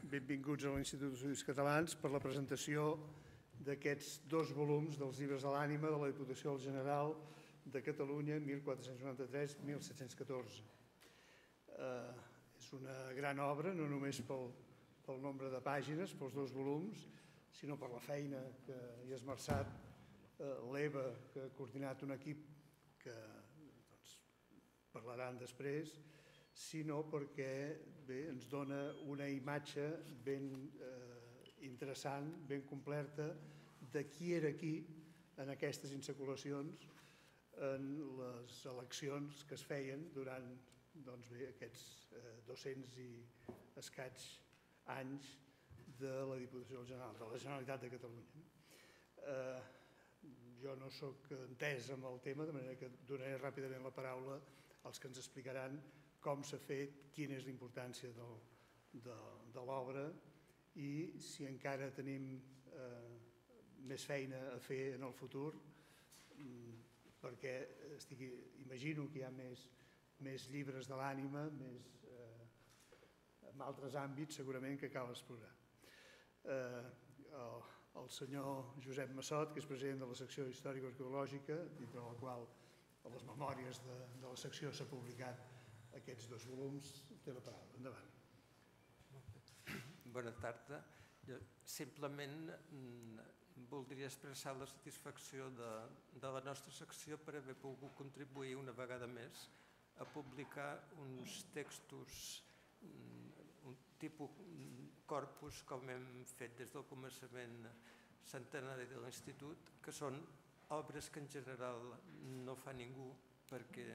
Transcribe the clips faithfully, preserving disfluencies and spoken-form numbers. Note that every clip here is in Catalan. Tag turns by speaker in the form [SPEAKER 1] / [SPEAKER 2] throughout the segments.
[SPEAKER 1] benvinguts a l'Institut d'Estudis Catalans per la presentació d'aquests dos volums dels llibres de l'ànima de la Diputació General de Catalunya mil quatre-cents noranta-tres a mil set-cents catorze. És una gran obra, no només pel nombre de pàgines, pels dos volums, sinó per la feina que hi ha esmerçat l'Eva, que ha coordinat un equip que parlaran després, sinó perquè ens dona una imatge ben interessant, ben completa, de qui era qui en aquestes insaculacions, en les eleccions que es feien durant aquests dos-cents i escaig anys de la Diputació General, de la Generalitat de Catalunya. Jo no soc entès amb el tema, de manera que donaré ràpidament la paraula als que ens explicaran com s'ha fet, quina és la importància de l'obra i si encara tenim més feina a fer en el futur, perquè imagino que hi ha més llibres de l'ànima, en altres àmbits segurament que cal explorar. El senyor Josep Massot, que és president de la secció històrico-arqueològica, dintre la qual a les memòries de la secció s'ha publicat aquests dos volums, té la paraula. Endavant.
[SPEAKER 2] Bona tarda. Simplement voldria expressar la satisfacció de la nostra secció per haver pogut contribuir una vegada més a publicar uns textos, un tipus corpus, com hem fet des del començament centenari de l'Institut, que són obres que en general no fa ningú perquè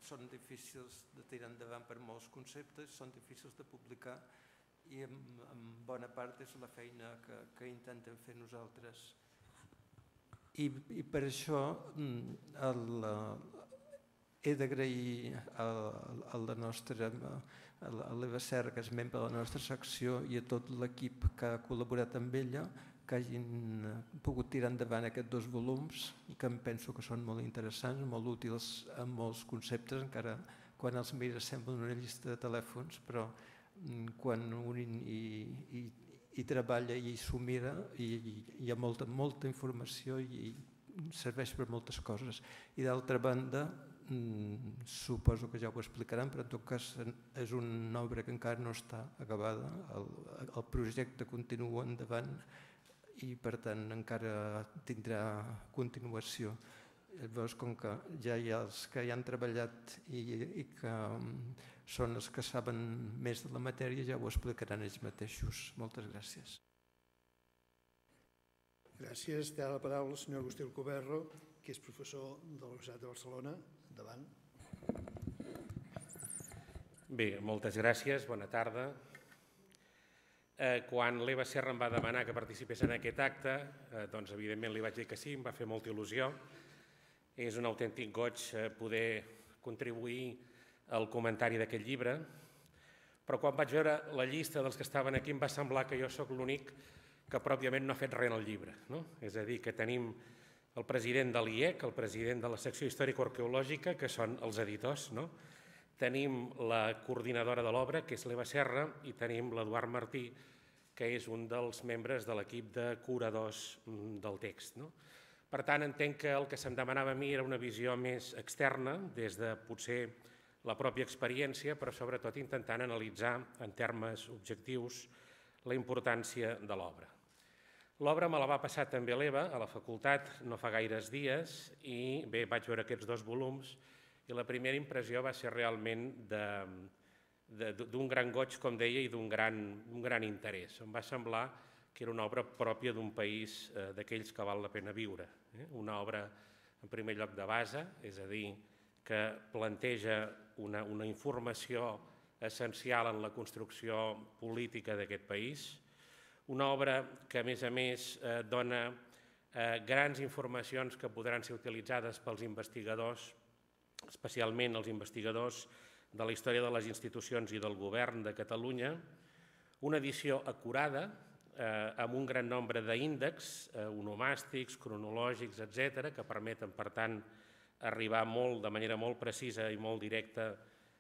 [SPEAKER 2] són difícils de tirar endavant per molts conceptes, són difícils de publicar i en bona part és la feina que intentem fer nosaltres. I per això he d'agrair a la nostra, a l'Eva Serra, que és membre de la nostra secció, i a tot l'equip que ha col·laborat amb ella, que hagin pogut tirar endavant aquests dos volums, que em penso que són molt interessants, molt útils en molts conceptes, encara quan els mires semblen una llista de telèfons, però quan un hi treballa i s'ho mira, hi ha molta informació i serveix per moltes coses. I d'altra banda, suposo que ja ho explicaran, però en tot cas és una obra que encara no està acabada, el projecte continua endavant i per tant encara tindrà continuació. Llavors, com que ja hi ha els que hi han treballat i que són els que saben més de la matèria, ja ho explicaran ells mateixos. Moltes gràcies.
[SPEAKER 1] Gràcies. Té la paraula el senyor Agustí Alcoberro, que és professor de la Universitat de Barcelona. Endavant.
[SPEAKER 3] Bé, moltes gràcies. Bona tarda. Quan l'Eva Serra em va demanar que participés en aquest acte, doncs evidentment li vaig dir que sí, em va fer molta il·lusió. És un autèntic goig poder contribuir al comentari d'aquest llibre, però quan vaig veure la llista dels que estaven aquí em va semblar que jo sóc l'únic que pròpiament no ha fet res en el llibre. És a dir, que tenim el president de l'I E C, el president de la secció històrico-arqueològica, que són els editors, tenim la coordinadora de l'obra, que és l'Eva Serra, i tenim l'Eduard Martí, que és un dels membres de l'equip de curadors del text. Per tant, entenc que el que se'm demanava a mi era una visió més externa, des de potser la pròpia experiència, però sobretot intentant analitzar en termes objectius la importància de l'obra. L'obra me la va passar també l'Eva a la facultat no fa gaires dies i bé, vaig veure aquests dos volums i la primera impressió va ser realment d'un gran goig, com deia, i d'un gran interès. Em va semblar que era una obra pròpia d'un país d'aquells que val la pena viure. Una obra, en primer lloc, de base, és a dir, que planteja una informació essencial en la construcció política d'aquest país, una obra que, a més a més, dona grans informacions que podran ser utilitzades pels investigadors, especialment els investigadors de la història de les institucions i del govern de Catalunya, una edició acurada, amb un gran nombre d'índexs onomàstics, cronològics, etcètera, que permeten, per tant, arribar de manera molt precisa i molt directa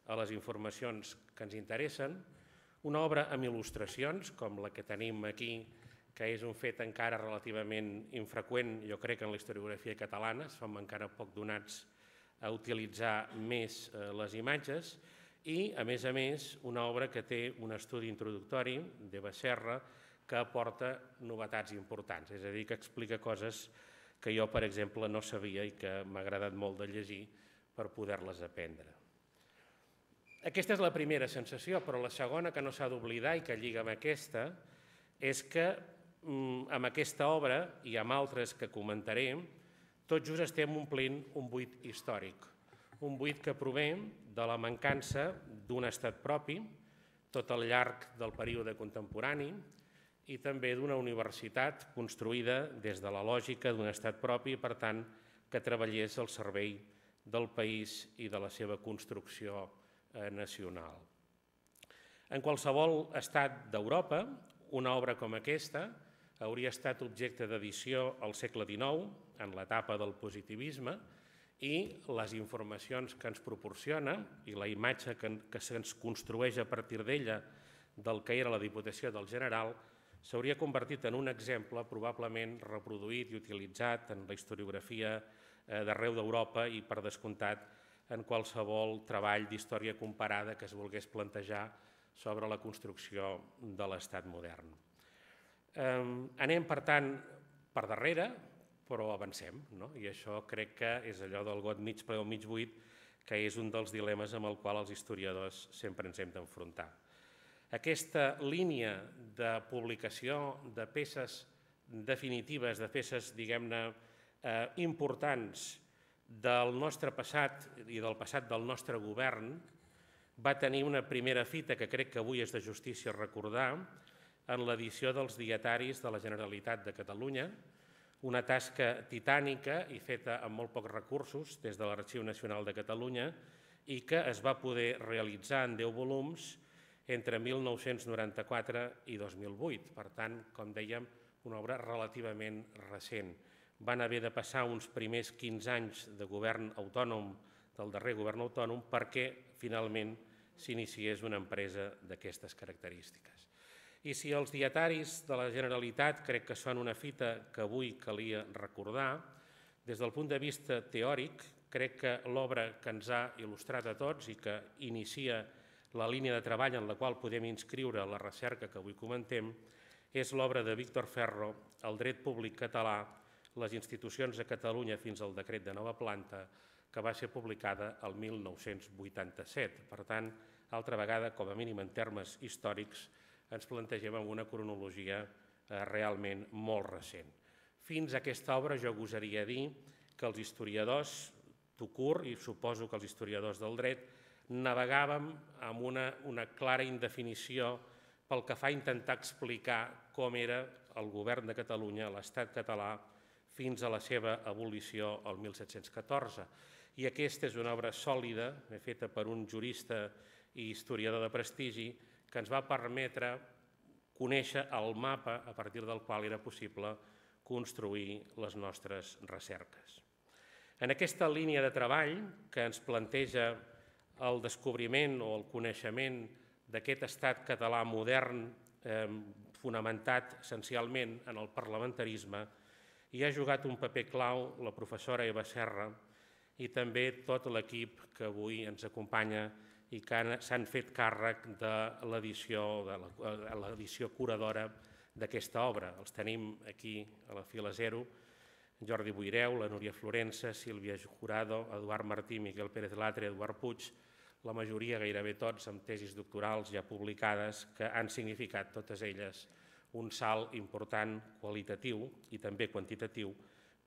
[SPEAKER 3] a les informacions que ens interessen, Una obra amb il·lustracions, com la que tenim aquí, que és un fet encara relativament infreqüent, jo crec, en la historiografia catalana, som encara poc donats a utilitzar més les imatges, i, a més a més, una obra que té un estudi introductori d'Eva Serra que aporta novetats importants, és a dir, que explica coses que jo, per exemple, no sabia i que m'ha agradat molt de llegir per poder-les aprendre. Aquesta és la primera sensació, però la segona que no s'ha d'oblidar i que lliga amb aquesta és que amb aquesta obra i amb altres que comentaré, tot just estem omplint un buit històric, un buit que prové de la mancança d'un estat propi tot al llarg del període contemporani i també d'una universitat construïda des de la lògica d'un estat propi i, per tant, que treballés al servei del país i de la seva construcció nacional. En qualsevol estat d'Europa, una obra com aquesta hauria estat objecte d'edició al segle dinou, en l'etapa del positivisme, i les informacions que ens proporciona i la imatge que se'ns construeix a partir d'ella del que era la Diputació del General s'hauria convertit en un exemple probablement reproduït i utilitzat en la historiografia d'arreu d'Europa i, per descomptat, en qualsevol treball d'història comparada que es volgués plantejar sobre la construcció de l'Estat modern. Anem, per tant, per darrere, però avancem, i això crec que és allò del got mig ple o mig buit, que és un dels dilemes amb el qual els historiadors sempre ens hem d'enfrontar. Aquesta línia de publicació de peces definitives, de peces, diguem-ne, importants del nostre passat i del passat del nostre govern, va tenir una primera fita que crec que avui és de justícia recordar en l'edició dels dietaris de la Generalitat de Catalunya, una tasca titànica i feta amb molt pocs recursos des de l'Arxiu Nacional de Catalunya i que es va poder realitzar en deu volums entre mil nou-cents noranta-quatre i dos mil vuit. Per tant, com dèiem, una obra relativament recent. Van haver de passar uns primers quinze anys de govern autònom, del darrer govern autònom, perquè finalment s'iniciés una empresa d'aquestes característiques. I si els dietaris de la Generalitat crec que són una fita que avui calia recordar, des del punt de vista teòric, crec que l'obra que ens ha il·lustrat a tots i que inicia la línia de treball en la qual podem inscriure la recerca que avui comentem és l'obra de Víctor Ferro, El dret públic català, les institucions a Catalunya fins al decret de nova planta, que va ser publicada el mil nou-cents vuitanta-set. Per tant, altra vegada, com a mínim en termes històrics, ens plantegem amb una cronologia realment molt recent. Fins a aquesta obra jo gosaria dir que els historiadors, tout court, i suposo que els historiadors del dret, navegàvem amb una clara indefinició pel que fa a intentar explicar com era el govern de Catalunya, l'Estat català, fins a la seva abolició el mil set-cents catorze. I aquesta és una obra sòlida, feta per un jurista i historiador de prestigi, que ens va permetre conèixer el mapa a partir del qual era possible construir les nostres recerques. En aquesta línia de treball que ens planteja el descobriment o el coneixement d'aquest estat català modern fonamentat essencialment en el parlamentarisme, hi ha jugat un paper clau la professora Eva Serra i també tot l'equip que avui ens acompanya i que s'han fet càrrec de l'edició curadora d'aquesta obra. Els tenim aquí a la fila zero, Jordi Boireu, la Núria Florença, Sílvia Jurado, Eduard Martí, Miquel Pérez Latre, Eduard Puig, la majoria, gairebé tots, amb tesis doctorals ja publicades que han significat totes elles un salt important qualitatiu i també quantitatiu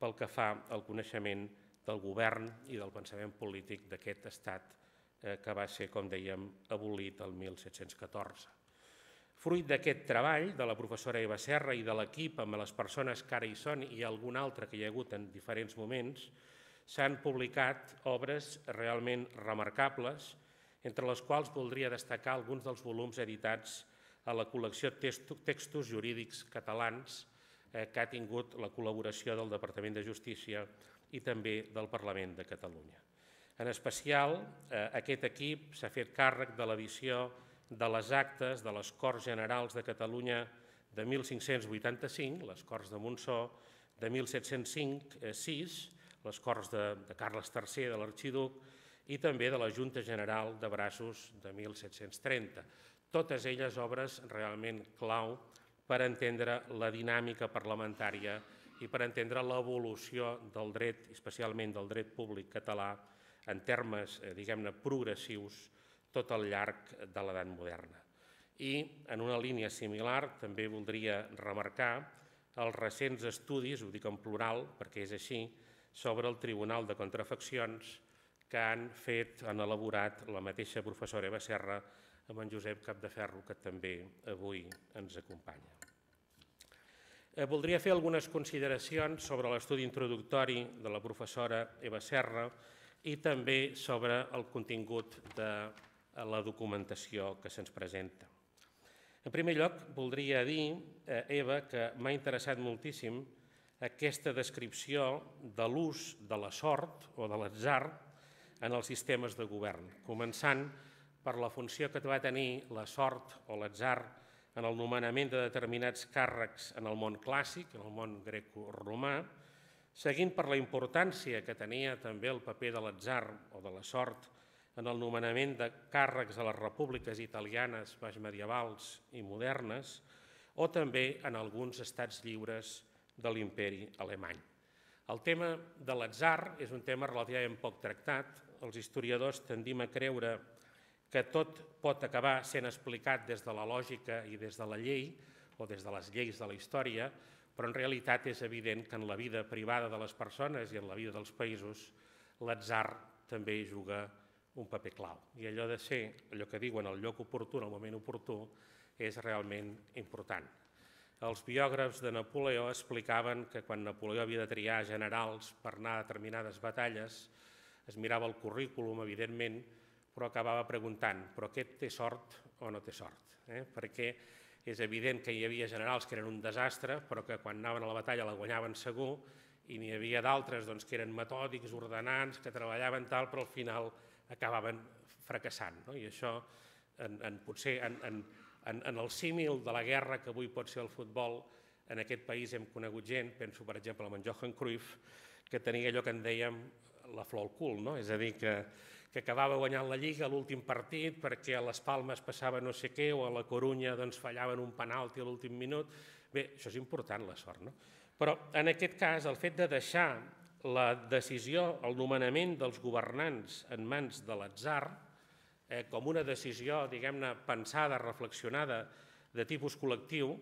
[SPEAKER 3] pel que fa al coneixement del govern i del pensament polític d'aquest estat que va ser, com dèiem, abolit el mil set-cents catorze. Fruit d'aquest treball de la professora Eva Serra i de l'equip amb les persones que ara hi són i algun altre que hi ha hagut en diferents moments, s'han publicat obres realment remarcables, entre les quals voldria destacar alguns dels volums editats a la col·lecció Textos Jurídics Catalans que ha tingut la col·laboració del Departament de Justícia i també del Parlament de Catalunya. En especial, aquest equip s'ha fet càrrec de l'edició de les actes de les Corts Generals de Catalunya de mil cinc-cents vuitanta-cinc, les Corts de Montsó, de mil set-cents sis, les Corts de, de Carles tercer, de l'arxiduc, i també de la Junta General de Braços de mil set-cents trenta. Totes elles obres realment clau per entendre la dinàmica parlamentària i per entendre l'evolució del dret, especialment del dret públic català, en termes, eh, diguem-ne, progressius, tot al llarg de l'edat moderna. I, en una línia similar, també voldria remarcar els recents estudis, ho dic en plural perquè és així, sobre el Tribunal de Contrafaccions que han fet, han elaborat la mateixa professora Eva Serra amb en Josep Capdeferro, que també avui ens acompanya. Eh, voldria fer algunes consideracions sobre l'estudi introductori de la professora Eva Serra i també sobre el contingut de la documentació que se'ns presenta. En primer lloc, voldria dir, eh, Eva, que m'ha interessat moltíssim aquesta descripció de l'ús de la sort o de l'atzar en els sistemes de govern, començant per la funció que va tenir la sort o l'atzar en el nomenament de determinats càrrecs en el món clàssic, en el món greco-romà, seguint per la importància que tenia també el paper de l'atzar o de la sort en el nomenament de càrrecs a les repúbliques italianes baixmedievals i modernes, o també en alguns estats lliures de l'imperi alemany. El tema de l'atzar és un tema relativament poc tractat. Els historiadors tendim a creure que tot pot acabar sent explicat des de la lògica i des de la llei o des de les lleis de la història, però en realitat és evident que en la vida privada de les persones i en la vida dels països l'atzar també juga un paper clau. I allò de ser, allò que diuen, el lloc oportú, en el moment oportú, és realment important. Els biògrafs de Napoleó explicaven que quan Napoleó havia de triar generals per anar a determinades batalles, es mirava el currículum, evidentment, però acabava preguntant, però aquest té sort o no té sort? Eh? Perquè és evident que hi havia generals que eren un desastre, però que quan anaven a la batalla la guanyaven segur, i n'hi havia d'altres doncs, que eren metòdics, ordenants, que treballaven tal, però al final acabaven fracassant. No? I això, en, en, potser en, en, en, en el símil de la guerra que avui pot ser el futbol, en aquest país hem conegut gent, penso per exemple en Johan Cruyff, que tenia allò que en dèiem la flor al cul, no? És a dir, que, que acabava guanyant la Lliga a l'últim partit perquè a les Palmes passava no sé què o a la Corunya doncs, fallaven un penalti a l'últim minut. Bé, això és important, la sort, no? Però en aquest cas, el fet de deixar la decisió, el nomenament dels governants en mans de l'atzar, eh, com una decisió, diguem-ne, pensada, reflexionada, de tipus col·lectiu,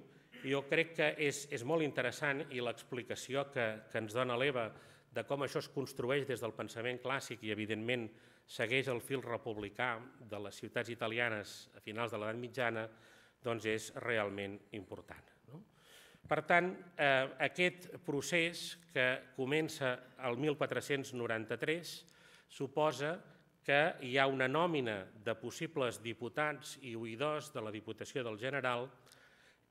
[SPEAKER 3] jo crec que és, és molt interessant i l'explicació que, que ens dona l'Eva de com això es construeix des del pensament clàssic i, evidentment, segueix el fil republicà de les ciutats italianes a finals de l'edat mitjana, doncs és realment important. No? Per tant, eh, aquest procés que comença el mil quatre-cents noranta-tres suposa que hi ha una nòmina de possibles diputats i oïdors de la Diputació del General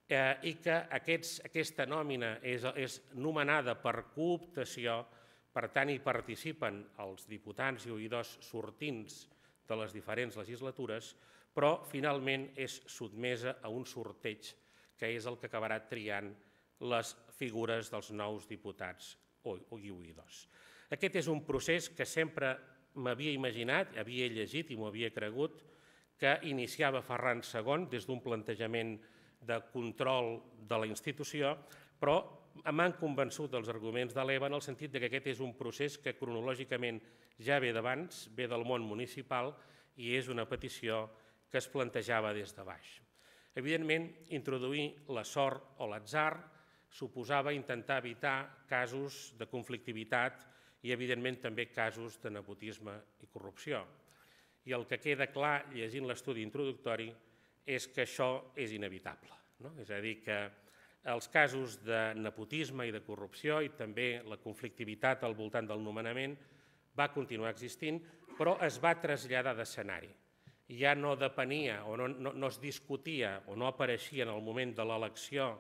[SPEAKER 3] eh, i que aquests, aquesta nòmina és, és nomenada per cooptació, per tant hi participen els diputats i oïdors sortints de les diferents legislatures, però finalment és sotmesa a un sorteig que és el que acabarà triant les figures dels nous diputats i oïdors. Aquest és un procés que sempre m'havia imaginat, havia llegit i m'ho havia cregut, que iniciava Ferran segon des d'un plantejament de control de la institució, però m'han convençut els arguments de l'Eva en el sentit que aquest és un procés que cronològicament ja ve d'abans, ve del món municipal i és una petició que es plantejava des de baix. Evidentment, introduir la sort o l'atzar suposava intentar evitar casos de conflictivitat i, evidentment, també casos de nepotisme i corrupció. I el que queda clar, llegint l'estudi introductori, és que això és inevitable. No? És a dir, que els casos de nepotisme i de corrupció i també la conflictivitat al voltant del nomenament va continuar existint, però es va traslladar d'escenari. Ja no depenia o no, no, no es discutia o no apareixia en el moment de l'elecció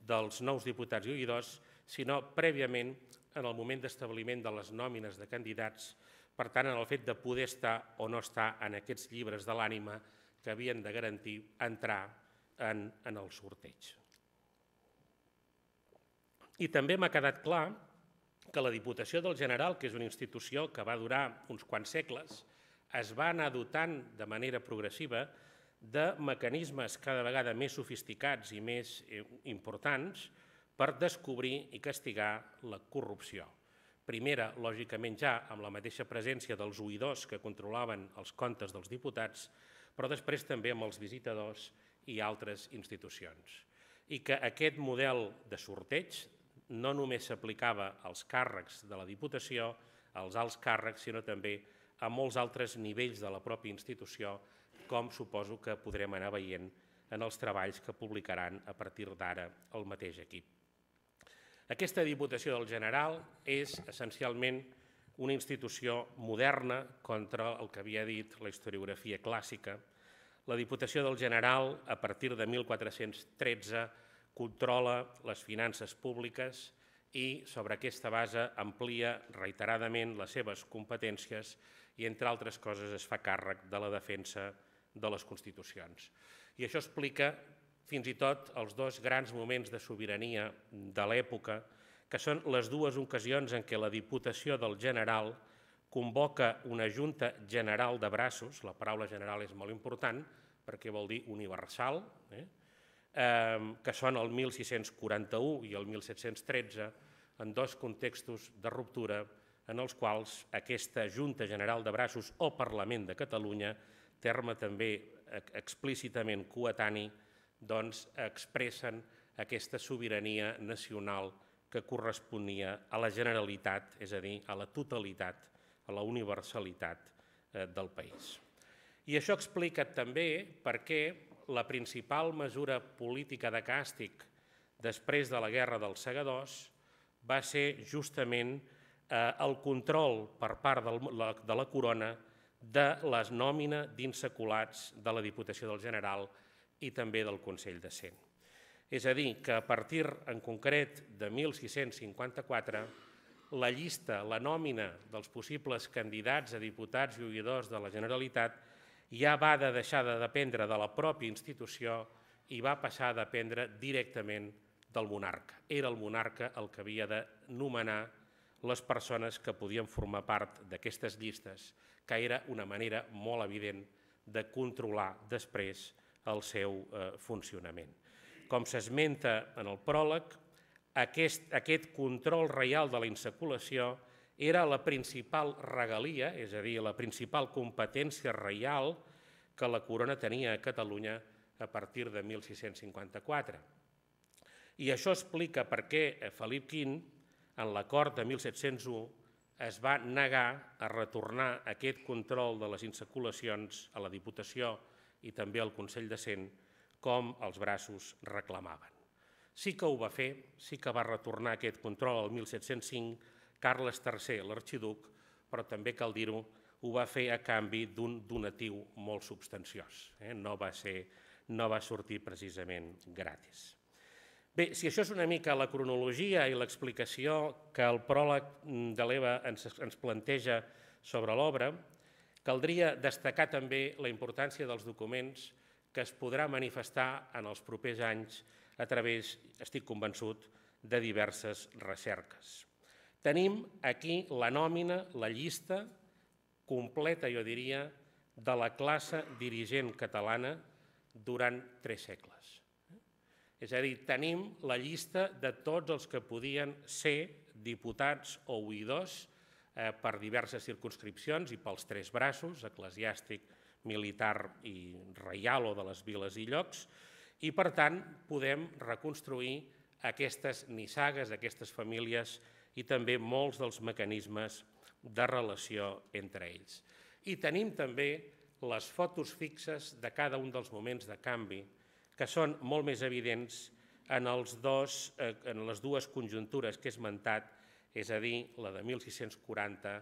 [SPEAKER 3] dels nous diputats i oïdors, sinó prèviament en el moment d'establiment de les nòmines de candidats, per tant, en el fet de poder estar o no estar en aquests llibres de l'ànima que havien de garantir entrar en, en el sorteig. I també m'ha quedat clar que la Diputació del General, que és una institució que va durar uns quants segles, es va anar dotant de manera progressiva de mecanismes cada vegada més sofisticats i més importants per descobrir i castigar la corrupció. Primera, lògicament ja, amb la mateixa presència dels oïdors que controlaven els comptes dels diputats, però després també amb els visitadors i altres institucions. I que aquest model de sorteig no només s'aplicava als càrrecs de la Diputació, als alts càrrecs, sinó també a molts altres nivells de la pròpia institució, com suposo que podrem anar veient en els treballs que publicaran a partir d'ara el mateix equip. Aquesta Diputació del General és essencialment una institució moderna contra el que havia dit la historiografia clàssica. La Diputació del General, a partir de mil quatre-cents tretze, controla les finances públiques i sobre aquesta base amplia reiteradament les seves competències i, entre altres coses, es fa càrrec de la defensa de les Constitucions. I això explica fins i tot els dos grans moments de sobirania de l'època, que són les dues ocasions en què la Diputació del General convoca una Junta General de Braços, la paraula general és molt important perquè vol dir universal, eh? que són el mil sis-cents quaranta-u i el mil set-cents tretze, en dos contextos de ruptura en els quals aquesta Junta General de Braços o Parlament de Catalunya, terme també explícitament coetani, doncs expressen aquesta sobirania nacional que corresponia a la Generalitat, és a dir, a la totalitat, a la universalitat del país. I això explica també per què la principal mesura política de càstig després de la Guerra dels Segadors va ser justament el control per part de la corona de la nòmina d'insaculats de la Diputació del General i també del Consell de Cent. És a dir, que a partir en concret de mil sis-cents cinquanta-quatre, la llista, la nòmina dels possibles candidats a diputats i oïdors de la Generalitat ja va de deixar de dependre de la pròpia institució i va passar a dependre directament del monarca. Era el monarca el que havia de nomenar les persones que podien formar part d'aquestes llistes, que era una manera molt evident de controlar després el seu funcionament. Com s'esmenta en el pròleg, aquest, aquest control reial de la insaculació era la principal regalia, és a dir, la principal competència reial que la corona tenia a Catalunya a partir de mil sis-cents cinquanta-quatre. I això explica per què Felip quinze, en l'acord de mil set-cents u, es va negar a retornar aquest control de les insaculacions a la Diputació i també al Consell de Cent, com els Braços reclamaven. Sí que ho va fer, sí que va retornar aquest control al mil set-cents cinc, Carles tercer, l'arxiduc, però també cal dir-ho, ho va fer a canvi d'un donatiu molt substanciós. No va ser, no va sortir precisament gratis. Bé, si això és una mica la cronologia i l'explicació que el pròleg de l'Eva ens, ens planteja sobre l'obra, caldria destacar també la importància dels documents que es podrà manifestar en els propers anys a través, estic convençut, de diverses recerques. Tenim aquí la nòmina, la llista completa, jo diria, de la classe dirigent catalana durant tres segles. És a dir, tenim la llista de tots els que podien ser diputats o oïdors per diverses circumscripcions i pels tres braços, eclesiàstic, militar i reial o de les viles i llocs, i per tant podem reconstruir aquestes nissagues, aquestes famílies i també molts dels mecanismes de relació entre ells. I tenim també les fotos fixes de cada un dels moments de canvi, que són molt més evidents en, els dos, en les dues conjuntures que he esmentat, és a dir, la de mil sis-cents quaranta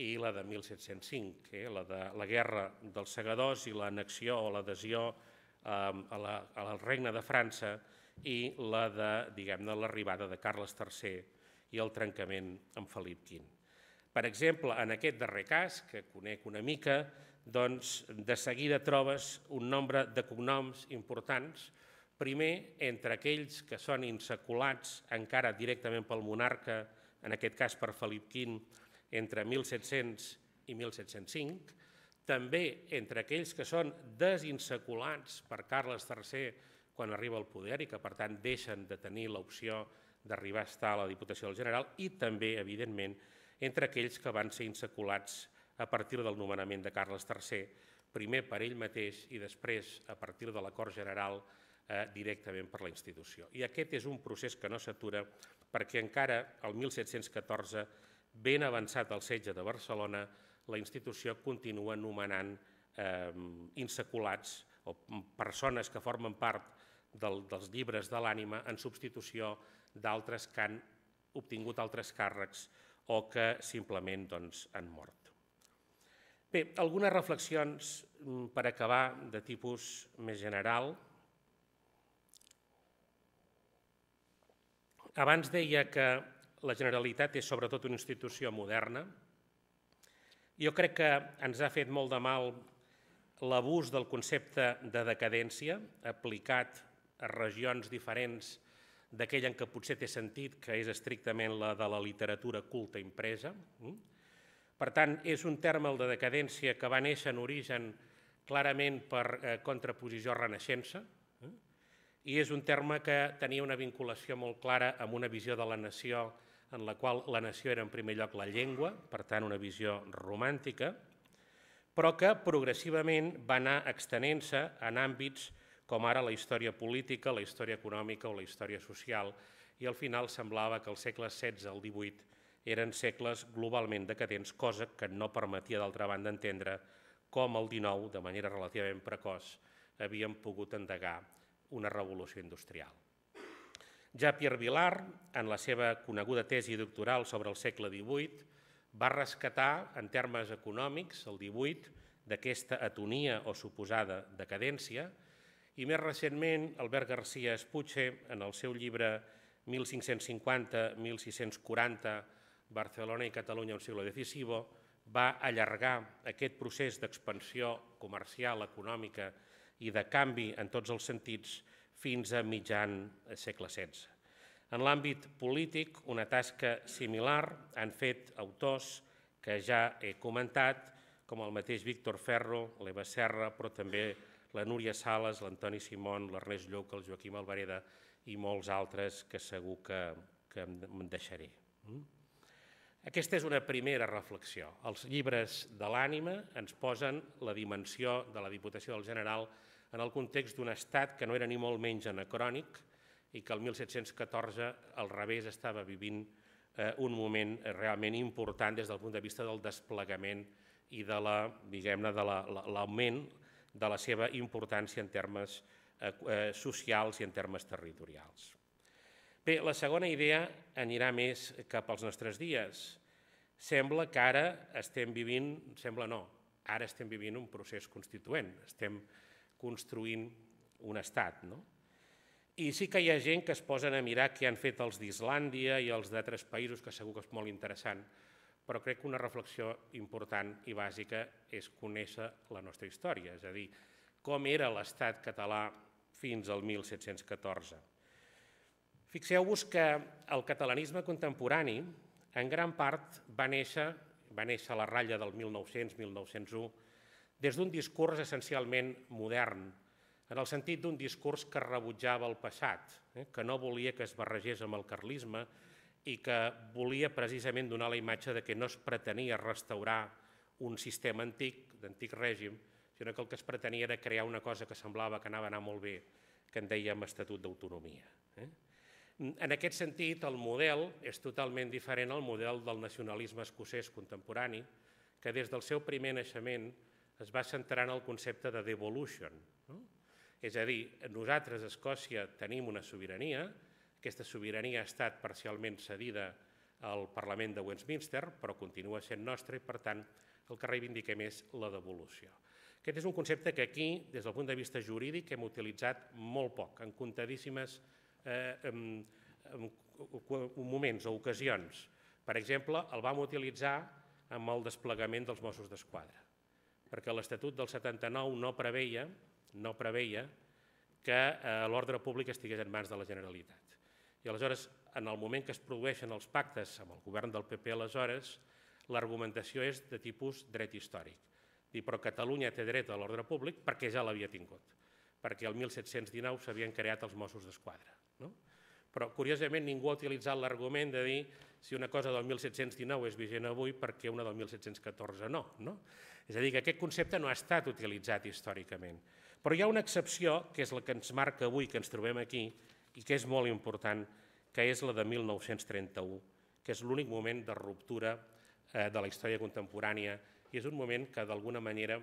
[SPEAKER 3] i la de mil set-cents cinc, eh? la de la guerra dels segadors i l'annexió o l'adhesió al Regne de França i la de, diguem-ne, l'arribada de Carles tercer i el trencament amb Felip quinze. Per exemple, en aquest darrer cas, que conec una mica, doncs de seguida trobes un nombre de cognoms importants, primer entre aquells que són insaculats encara directament pel monarca, en aquest cas per Felip quint, entre mil set-cents i mil set-cents cinc, també entre aquells que són desinsaculats per Carles tercer quan arriba al poder i que per tant deixen de tenir l'opció d'arribar a estar a la Diputació del General, i també, evidentment, entre aquells que van ser insaculats a partir del nomenament de Carles tercer, primer per ell mateix i després, a partir de l'acord general, eh, directament per la institució. I aquest és un procés que no s'atura perquè encara el mil set-cents catorze, ben avançat el setge de Barcelona, la institució continua nomenant eh, insaculats o persones que formen part del, dels llibres de l'ànima en substitució d'altres que han obtingut altres càrrecs o que simplement doncs, han mort. Bé, algunes reflexions per acabar de tipus més general. Abans deia que la Generalitat és sobretot una institució moderna. Jo crec que ens ha fet molt de mal l'abús del concepte de decadència aplicat a regions diferents d'aquella en què potser té sentit, que és estrictament la de la literatura culta impresa. Per tant, és un terme, el de decadència, que va néixer en origen clarament per contraposició a Renaixença, i és un terme que tenia una vinculació molt clara amb una visió de la nació en la qual la nació era en primer lloc la llengua, per tant una visió romàntica, però que progressivament va anar extenent-se en àmbits com ara la història política, la història econòmica o la història social, i al final semblava que els segles setze al divuit eren segles globalment decadents, cosa que no permetia d'altra banda entendre com el dinou, de manera relativament precoç, havien pogut endegar una revolució industrial. Ja Pierre Vilar, en la seva coneguda tesi doctoral sobre el segle divuit, va rescatar, en termes econòmics, el divuit, d'aquesta atonia o suposada decadència, i més recentment, Albert García Espuche, en el seu llibre mil cinc-cents cinquanta a mil sis-cents quaranta, Barcelona i Catalunya, un siglo decisivo, va allargar aquest procés d'expansió comercial, econòmica i de canvi en tots els sentits fins a mitjan segle setze. En l'àmbit polític, una tasca similar han fet autors que ja he comentat, com el mateix Víctor Ferro, l'Eva Serra, però també la Núria Sales, l'Antoni Simón, l'Ernest Lluch, el Joaquim Albareda i molts altres que segur que, que em deixaré. Aquesta és una primera reflexió. Els llibres de l'ànima ens posen la dimensió de la Diputació del General en el context d'un estat que no era ni molt menys anacrònic i que el mil set-cents catorze al revés estava vivint un moment realment important des del punt de vista del desplegament i de l'augment de la seva importància en termes socials i en termes territorials. Bé, la segona idea anirà més cap als nostres dies. Sembla que ara estem vivint, sembla no, ara estem vivint un procés constituent, estem construint un estat, no? I sí que hi ha gent que es posen a mirar què han fet els d'Islàndia i els d'altres països, que segur que és molt interessant, però crec que una reflexió important i bàsica és conèixer la nostra història, és a dir, com era l'estat català fins al mil set-cents catorze. Fixeu-vos que el catalanisme contemporani, en gran part, va néixer, va néixer a la ratlla del mil nou-cents a mil nou-cents u, des d'un discurs essencialment modern, en el sentit d'un discurs que rebutjava el passat, que no volia que es barregés amb el carlisme i que volia precisament donar la imatge de que no es pretenia restaurar un sistema antic, d'antic règim, sinó que el que es pretenia era crear una cosa que semblava que anava a anar molt bé, que en dèiem Estatut d'Autonomia. En aquest sentit, el model és totalment diferent al model del nacionalisme escocès contemporani, que des del seu primer naixement es va centrar en el concepte de devolution. És a dir, nosaltres a Escòcia tenim una sobirania, aquesta sobirania ha estat parcialment cedida al Parlament de Westminster, però continua sent nostra i, per tant, el que reivindiquem és la devolució. Aquest és un concepte que aquí, des del punt de vista jurídic, hem utilitzat molt poc, en comptadíssimes moments o ocasions. Per exemple, el vam utilitzar amb el desplegament dels Mossos d'Esquadra. perquè l'Estatut del setanta-nou no preveia, no preveia que l'ordre públic estigués en mans de la Generalitat. I aleshores, en el moment que es produeixen els pactes amb el govern del P P aleshores, l'argumentació és de tipus dret històric. Dir, però Catalunya té dret a l'ordre públic perquè ja l'havia tingut, perquè el mil set-cents dinou s'havien creat els Mossos d'Esquadra. Però, curiosament, ningú ha utilitzat l'argument de dir si una cosa del mil set-cents dinou és vigent avui perquè una del mil set-cents catorze no. És a dir, que aquest concepte no ha estat utilitzat històricament. Però hi ha una excepció, que és la que ens marca avui, que ens trobem aquí, i que és molt important, que és la de mil nou-cents trenta-u, que és l'únic moment de ruptura de la història contemporània i és un moment que, d'alguna manera,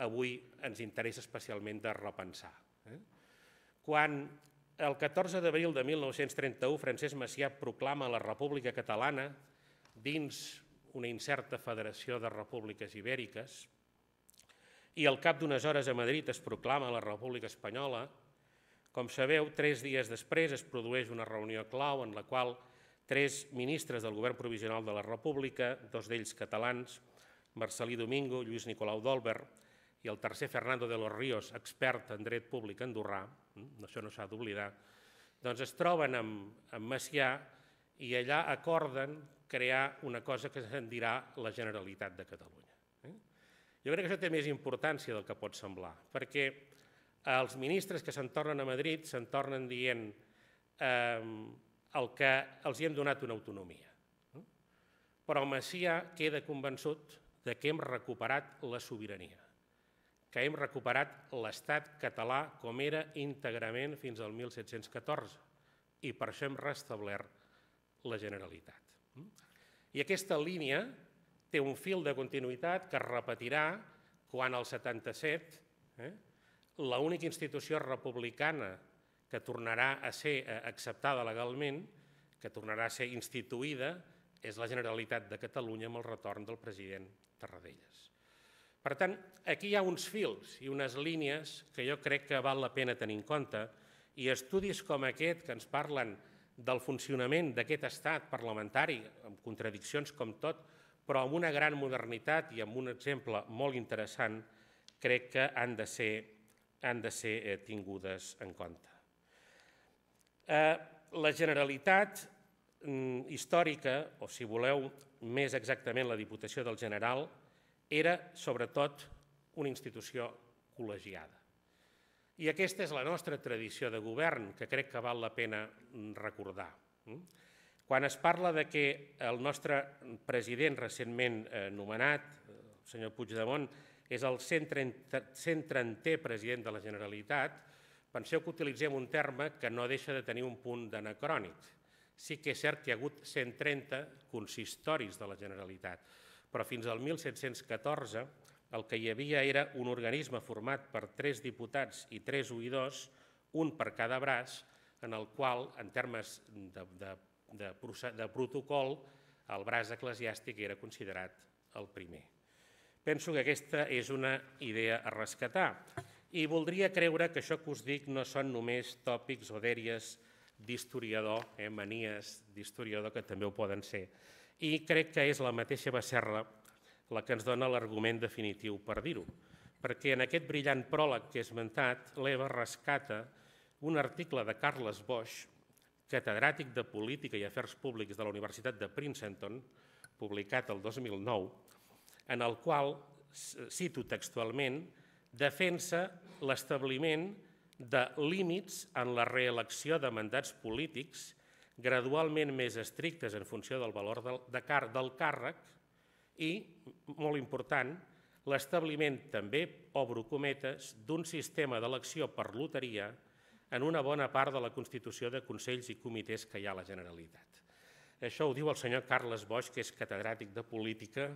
[SPEAKER 3] avui ens interessa especialment de repensar. Quan el catorze d'abril de mil nou-cents trenta-u Francesc Macià proclama la República Catalana dins una incerta federació de repúbliques ibèriques i al cap d'unes hores a Madrid es proclama la República Espanyola, com sabeu, tres dies després es produeix una reunió clau en la qual tres ministres del govern provisional de la República, dos d'ells catalans, Marcelí Domingo, Lluís Nicolau d'Olwer, i el tercer, Fernando de los Ríos, expert en dret públic andorrà, això no s'ha d'oblidar, doncs es troben amb Macià i allà acorden crear una cosa que se'n dirà la Generalitat de Catalunya. Jo crec que això té més importància del que pot semblar, perquè els ministres que se'n tornen a Madrid se'n tornen dient el que els hi hem donat una autonomia. Però Macià queda convençut que hem recuperat la sobirania, que hem recuperat l'estat català com era íntegrament fins al mil set-cents catorze i per això hem restablert la Generalitat. I aquesta línia té un fil de continuïtat que es repetirà quan al setanta-set l'única institució republicana que tornarà a ser acceptada legalment, que tornarà a ser instituïda, és la Generalitat de Catalunya amb el retorn del president Tarradellas. Per tant, aquí hi ha uns fils i unes línies que jo crec que val la pena tenir en compte i estudis com aquest que ens parlen del funcionament d'aquest estat parlamentari, amb contradiccions com tot, però amb una gran modernitat i amb un exemple molt interessant, crec que han de ser, han de ser tingudes en compte. La Generalitat històrica, o si voleu més exactament la Diputació del General, era sobretot una institució col·legiada. I aquesta és la nostra tradició de govern, que crec que val la pena recordar. Quan es parla que el nostre president recentment nomenat, el senyor Puigdemont, és el cent trentè president de la Generalitat, penseu que utilitzem un terme que no deixa de tenir un punt d'anacrònic. Sí que és cert que hi ha hagut cent trenta consistoris de la Generalitat, però fins al mil set-cents catorze el que hi havia era un organisme format per tres diputats i tres oïdors, un per cada braç, en el qual, en termes de protocol, el braç eclesiàstic era considerat el primer. Penso que aquesta és una idea a rescatar i voldria creure que això que us dic no són només tòpics o dèries d'historiador, manies d'historiador que també ho poden ser. I crec que és la mateixa Becerra la que ens dona l'argument definitiu per dir-ho, perquè en aquest brillant pròleg que he esmentat, l'Eva rescata un article de Carles Boix, catedràtic de Política i Afers Públics de la Universitat de Princeton, publicat el dos mil nou, en el qual, cito textualment, defensa l'establiment de límits en la reelecció de mandats polítics gradualment més estrictes en funció del valor del càrrec i, molt important, l'establiment també, obro cometes, d'un sistema d'elecció per loteria en una bona part de la constitució de consells i comitès que hi ha a la Generalitat. Això ho diu el senyor Carles Boix, que és catedràtic de Política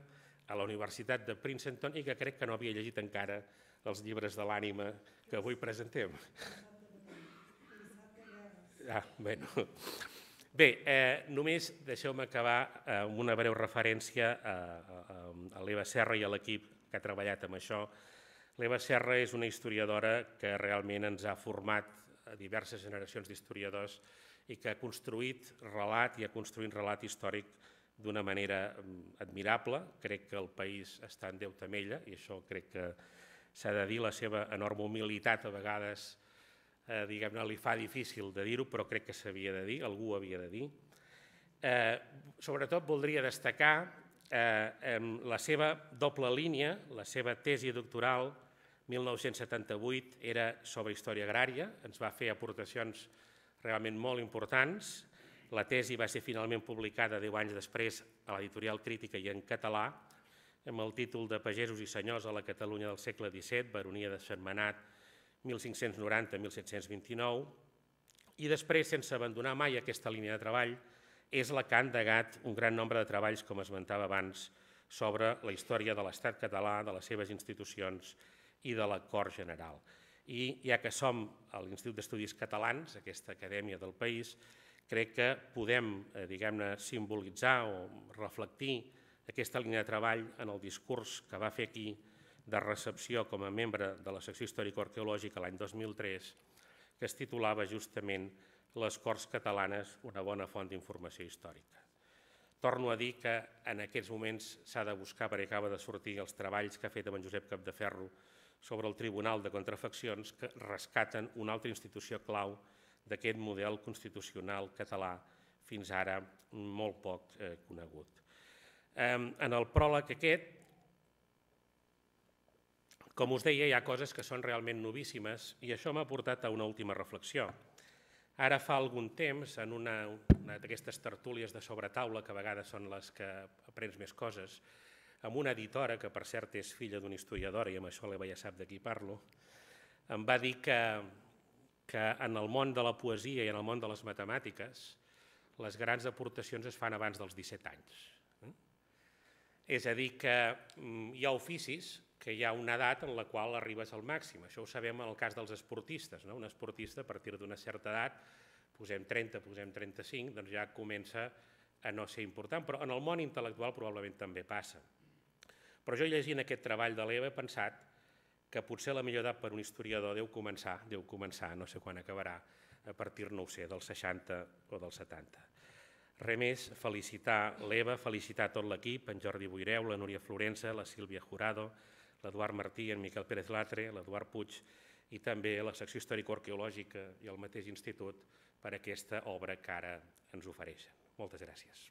[SPEAKER 3] a la Universitat de Princeton i que crec que no havia llegit encara els llibres de l'ànima que avui presentem. Ah, bueno... Bé, només deixeu-me acabar amb una breu referència a l'Eva Serra i a l'equip que ha treballat amb això. L'Eva Serra és una historiadora que realment ens ha format a diverses generacions d'historiadors i que ha construït relat i ha construït relat històric d'una manera admirable. Crec que el país està en deute amb ella i això crec que s'ha de dir. La seva enorme humilitat a vegades diguem-ne li fa difícil de dir-ho, però crec que s'havia de dir, algú ho havia de dir. Sobretot voldria destacar la seva doble línia, la seva tesi doctoral mil nou-cents setanta-vuit era sobre història agrària, ens va fer aportacions realment molt importants. La tesi va ser finalment publicada deu anys després a l'editorial Crítica i en català, amb el títol de Pagesos i senyors a la Catalunya del segle disset, baronia de Sentmenat, mil cinc-cents noranta a mil set-cents vint-i-nou, i després, sense abandonar mai aquesta línia de treball, és la que ha endegat un gran nombre de treballs, com esmentava abans, sobre la història de l'Estat català, de les seves institucions i de la Cort General. I ja que som a l'Institut d'Estudis Catalans, aquesta acadèmia del país, crec que podem, diguem-ne, simbolitzar o reflectir aquesta línia de treball en el discurs que va fer aquí de recepció com a membre de la secció històrico-arqueològica l'any dos mil tres, que es titulava justament Les Corts Catalanes, una bona font d'informació històrica. Torno a dir que en aquests moments s'ha de buscar, perquè acaba de sortir els treballs que ha fet amb en Josep Capdeferro sobre el Tribunal de Contrafaccions, que rescaten una altra institució clau d'aquest model constitucional català fins ara molt poc conegut. En el pròleg aquest, com us deia, hi ha coses que són realment novíssimes i això m'ha portat a una última reflexió. Ara fa algun temps, en una d'aquestes tertúlies de sobretaula, que a vegades són les que aprens més coses, amb una editora, que per cert és filla d'una historiadora, i amb això l'Eva ja sap de qui parlo, em va dir que en el món de la poesia i en el món de les matemàtiques les grans aportacions es fan abans dels disset anys. És a dir, que hi ha oficis que hi ha una edat en la qual arribes al màxim. Això ho sabem en el cas dels esportistes. Un esportista, a partir d'una certa edat, posem trenta, posem trenta-cinc, doncs ja comença a no ser important, però en el món intel·lectual probablement també passa. Però jo llegint aquest treball de l'Eva he pensat que potser la millor edat per un historiador deu començar, deu començar, no sé quan acabarà, a partir, no ho sé, dels seixanta o dels setanta. Res més, felicitar l'Eva, felicitar tot l'equip, en Jordi Boireu, la Núria Florença, la Sílvia Jurado, l'Eduard Martí, en Miquel Pérez Latre, l'Eduard Puig i també la secció històrico-arqueològica i el mateix institut per aquesta obra que ara ens ofereixen. Moltes gràcies.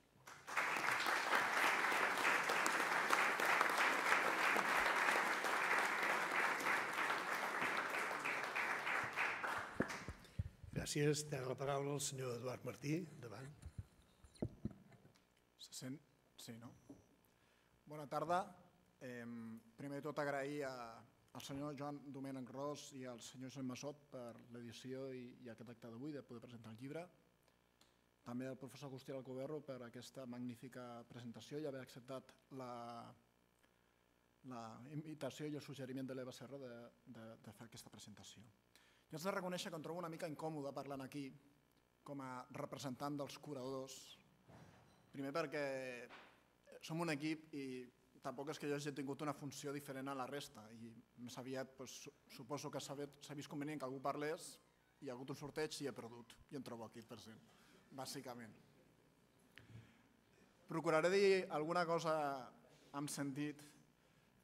[SPEAKER 1] Gràcies. Té la paraula el senyor Eduard Martí. Endavant.
[SPEAKER 4] Se sent? Sí, no? Bona tarda. Primer de tot agrair al senyor Joan Domènech Ros i al senyor Josep Massot per l'edició i aquest acte d'avui de poder presentar el llibre. També al professor Agustí Alcoberro per aquesta magnífica presentació i haver acceptat la invitació i el suggeriment de l'Eva Serra de fer aquesta presentació. Jo haig de reconèixer que em trobo una mica incòmode parlant aquí com a representant dels curadors. Primer perquè som un equip i tampoc és que jo hagi tingut una funció diferent a la resta i més aviat suposo que s'ha vist convenient que algú parlés, hi ha hagut un sorteig i he perdut i em trobo aquí present, bàsicament. Procuraré dir alguna cosa amb sentit.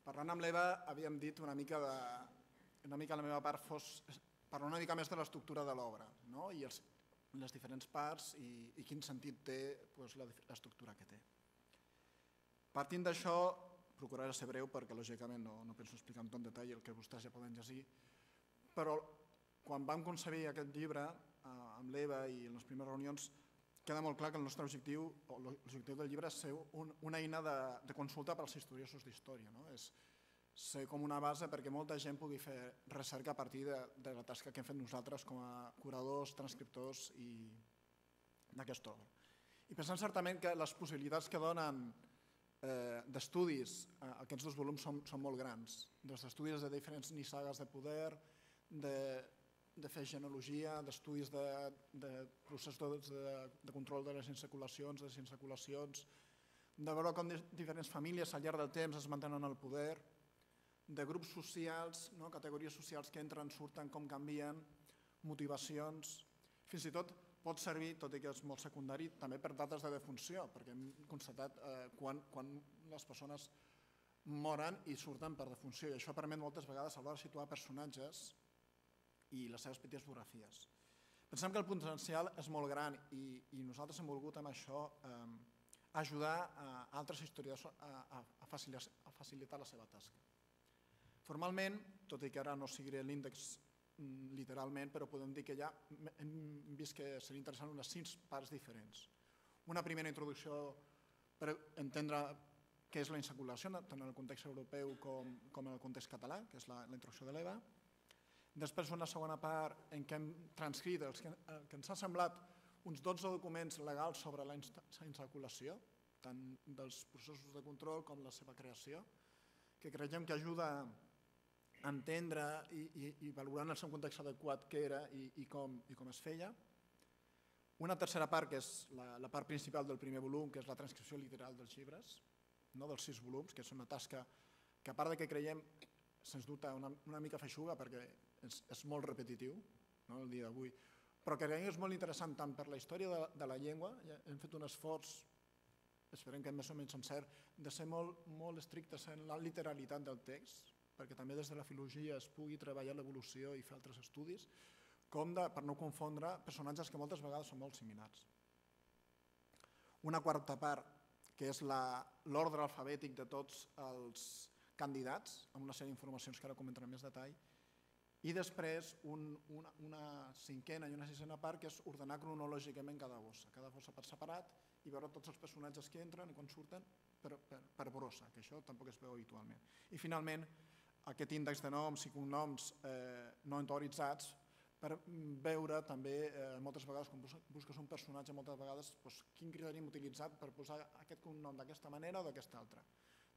[SPEAKER 4] Parlant amb l'Eva havíem dit una mica de... una mica la meva part fos parlar una mica més de l'estructura de l'obra i les diferents parts i quin sentit té l'estructura que té. Partint d'això, procuraré ser breu perquè lògicament no penso explicar amb tot detall el que vostès ja poden llegir, però quan vam concebir aquest llibre amb l'Eva i en les primeres reunions queda molt clar que el nostre objectiu, o l'objectiu del llibre és ser una eina de consulta per als estudiosos d'història. És ser com una base perquè molta gent pugui fer recerca a partir de la tasca que hem fet nosaltres com a curadors, transcriptors d'aquesta obra. I pensant certament que les possibilitats que donen d'estudis aquests dos volums són molt grans, des d'estudis de diferents nissagues de poder, de fer genealogia, d'estudis de processos de control de les insaculacions, de les insaculacions, de veure com diferents famílies al llarg del temps es mantenen al poder, de grups socials, categories socials que entren, surten, com canvien, motivacions, fins i tot pot servir, tot i que és molt secundari, també per dates de defunció, perquè hem constatat quan les persones moren i surten per defunció, i això permet moltes vegades a l'hora de situar personatges i les seves petites biografies. Pensem que el potencial és molt gran i nosaltres hem volgut amb això ajudar a altres historiadors a facilitar la seva tasca. Formalment, tot i que ara no seguiré l'índex literalment, però podem dir que ja hem vist que seria interessant unes cinc parts diferents. Una primera introducció per entendre què és la insaculació, tant en el context europeu com en el context català, que és la introducció de l'Eva. Després una segona part en què hem transcrit el que ens ha semblat uns dotze documents legals sobre la insaculació, tant dels processos de control com la seva creació, que creiem que ajuda a entendre i valorar en el seu context adequat què era i com es feia. Una tercera part, que és la part principal del primer volum, que és la transcripció literal dels llibres, dels sis volums, que és una tasca que a part que creiem, sens dubte, una mica feixuga perquè és molt repetitiu el dia d'avui, però que creiem que és molt interessant tant per la història de la llengua, hem fet un esforç, esperem que més o menys encert, de ser molt estrictes en la literalitat del text, perquè també des de la filologia es pugui treballar l'evolució i fer altres estudis, com per no confondre personatges que moltes vegades són molt similars. Una quarta part, que és l'ordre alfabètic de tots els candidats, amb una sèrie d'informacions que ara comentaré en més detall, i després una cinquena i una sisena part, que és ordenar cronològicament cada bossa, cada bossa per separat, i veure tots els personatges que entren i quan surten per brossa, que això tampoc es veu habitualment. I finalment, aquest índex de noms i cognoms no autoritzats, per veure també, moltes vegades, quan busques un personatge, moltes vegades, quin criteri hem utilitzat per posar aquest cognom d'aquesta manera o d'aquesta altra.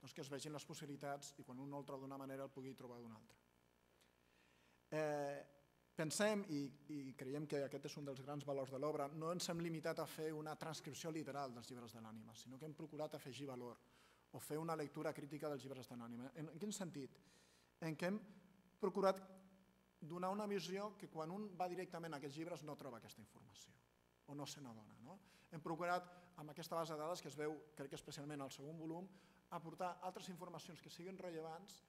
[SPEAKER 4] Doncs que es vegin les possibilitats i quan un no el troba d'una manera el pugui trobar d'una altra. Pensem, i creiem que aquest és un dels grans valors de l'obra, no ens hem limitat a fer una transcripció literal dels llibres de l'ànima, sinó que hem procurat afegir valor o fer una lectura crítica dels llibres de l'ànima. En quin sentit? En què hem procurat donar una visió que quan un va directament a aquests llibres no troba aquesta informació o no se n'adona. Hem procurat, amb aquesta base de dades que es veu, crec que especialment al segon volum, aportar altres informacions que siguin rellevants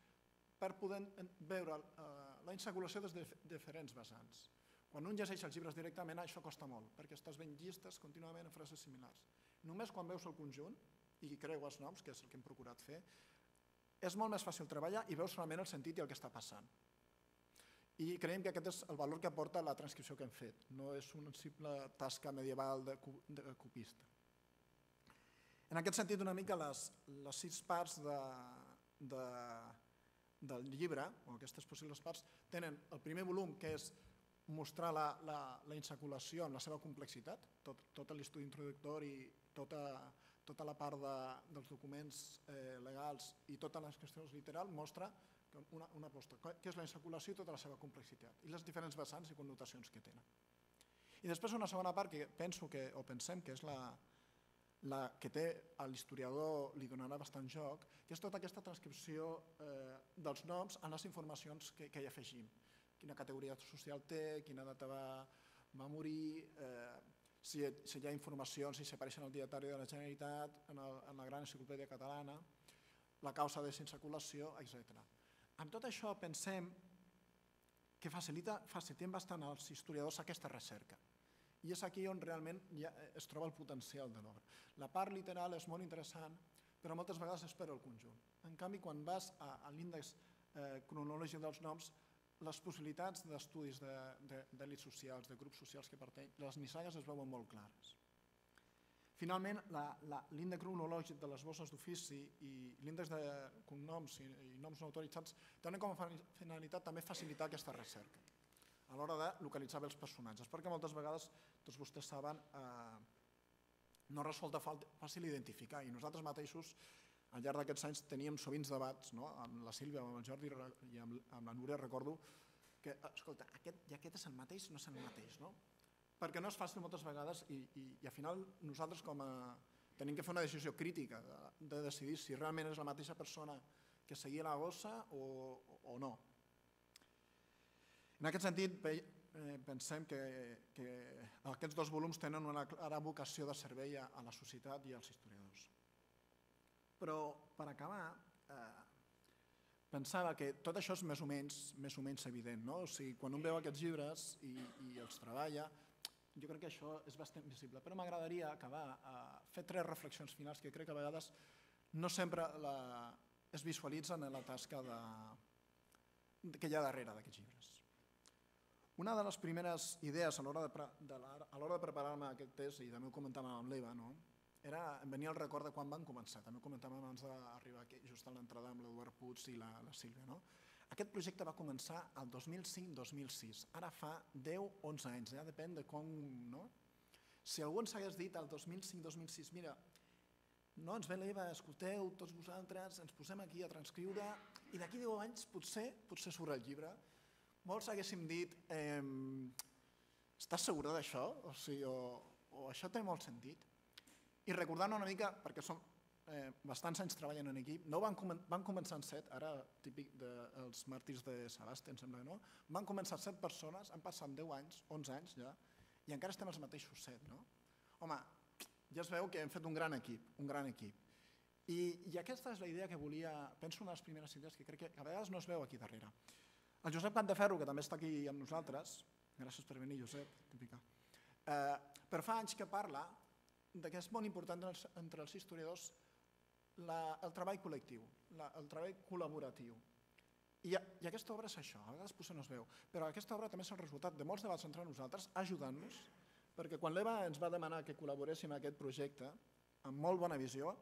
[SPEAKER 4] per poder veure la insaculació des de diferents vessants. Quan un llegeix els llibres directament això costa molt, perquè estàs veient llistes contínuament en frases similars. Només quan veus el conjunt i creues noms, que és el que hem procurat fer, és molt més fàcil treballar i veus solament el sentit i el que està passant. I creiem que aquest és el valor que aporta la transcripció que hem fet, no és una simple tasca medieval de copista. En aquest sentit, una mica les sis parts del llibre, o aquestes possibles parts, tenen el primer volum, que és mostrar la insaculació en la seva complexitat, tot l'estudi introductori, tota la part dels documents legals i totes les qüestions literals mostra una aposta, que és la insaculació i tota la seva complexitat, i les diferents vessants i connotacions que tenen. I després una segona part que penso que, o pensem que és la que té a l'historiador, li donarà bastant joc, que és tota aquesta transcripció dels noms en les informacions que hi afegim. Quina categoria social té, quina data va morir, si hi ha informacions, si s'apareixen al dietari de la Generalitat, en la gran enciclopèdia catalana, la causa de s'insaculació, etcètera. Amb tot això pensem que facilitem bastant als historiadors aquesta recerca. I és aquí on realment es troba el potencial de l'obra. La part literal és molt interessant, però moltes vegades es perd el conjunt. En canvi, quan vas a l'índex cronològic dels noms, les possibilitats d'estudis d'èlits socials, de grups socials que pertanyen, les nissagues es veuen molt clares. Finalment, l'índex cronològic de les bosses d'ofici i l'índex de cognoms i noms no autoritzats tenen com a finalitat també facilitar aquesta recerca a l'hora de localitzar bé els personatges, perquè moltes vegades, tots vostès saben, no resulta fàcil identificar i nosaltres mateixos al llarg d'aquests anys teníem sovint debats amb la Sílvia, amb el Jordi i amb la Núria, recordo que, escolta, i aquest és el mateix o no és el mateix, no? Perquè no és fàcil moltes vegades i al final nosaltres com a tenim que fer una decisió crítica de decidir si realment és la mateixa persona que seguia la bossa o no. En aquest sentit eh, pensem que, que aquests dos volums tenen una clara vocació de servei a, a la societat i als historiadors. Però, per acabar, eh, pensava que tot això és més o menys, més o menys evident, no? O sigui, quan un veu aquests llibres i, i els treballa, jo crec que això és bastant visible, però m'agradaria acabar a fer tres reflexions finals que crec que a vegades no sempre la, es visualitzen en la tasca de, que hi ha darrere d'aquests llibres. Una de les primeres idees a l'hora de, de, a l'hora de preparar-me aquest test, i també ho comentàvem amb l'Eva, no? Era, em venia el record de quan van començar, també ho comentàvem abans d'arribar aquí, just a l'entrada amb l'Eduard Puig i la, la Sílvia. No? Aquest projecte va començar el dos mil cinc dos mil sis, ara fa deu onze anys, ja depèn de com... No? Si algú ens hagués dit el dos mil cinc dos mil sis, mira, no ens ve l'Eva, escolteu, tots vosaltres, ens posem aquí a transcriure i d'aquí deu anys potser, potser surt el llibre. Molts haguéssim dit, eh, estàs segura d'això? O, sigui, o, o això té molt sentit? I recordant una mica, perquè som eh, bastants anys treballant en equip, no van, com van començar en set, ara típic dels de, màrtirs de Sagasta, em sembla que no, van començar set persones, han passat deu anys, onze anys ja, i encara estem els mateixos set. No? Home, ja es veu que hem fet un gran equip, un gran equip. I, i aquesta és la idea que volia, penso una de les primeres idees que crec que a vegades no es veu aquí darrere. El Josep Cantaferro, que també està aquí amb nosaltres, gràcies per venir, Josep, típica, eh, però fa anys que parla que és molt important entre els historiadors la, el treball col·lectiu, la, el treball col·laboratiu. I, I aquesta obra és això, a vegades potser no es veu, però aquesta obra també és el resultat de molts debats entre nosaltres, ajudant-nos, perquè quan l'Eva ens va demanar que col·laboréssim en aquest projecte, amb molt bona visió,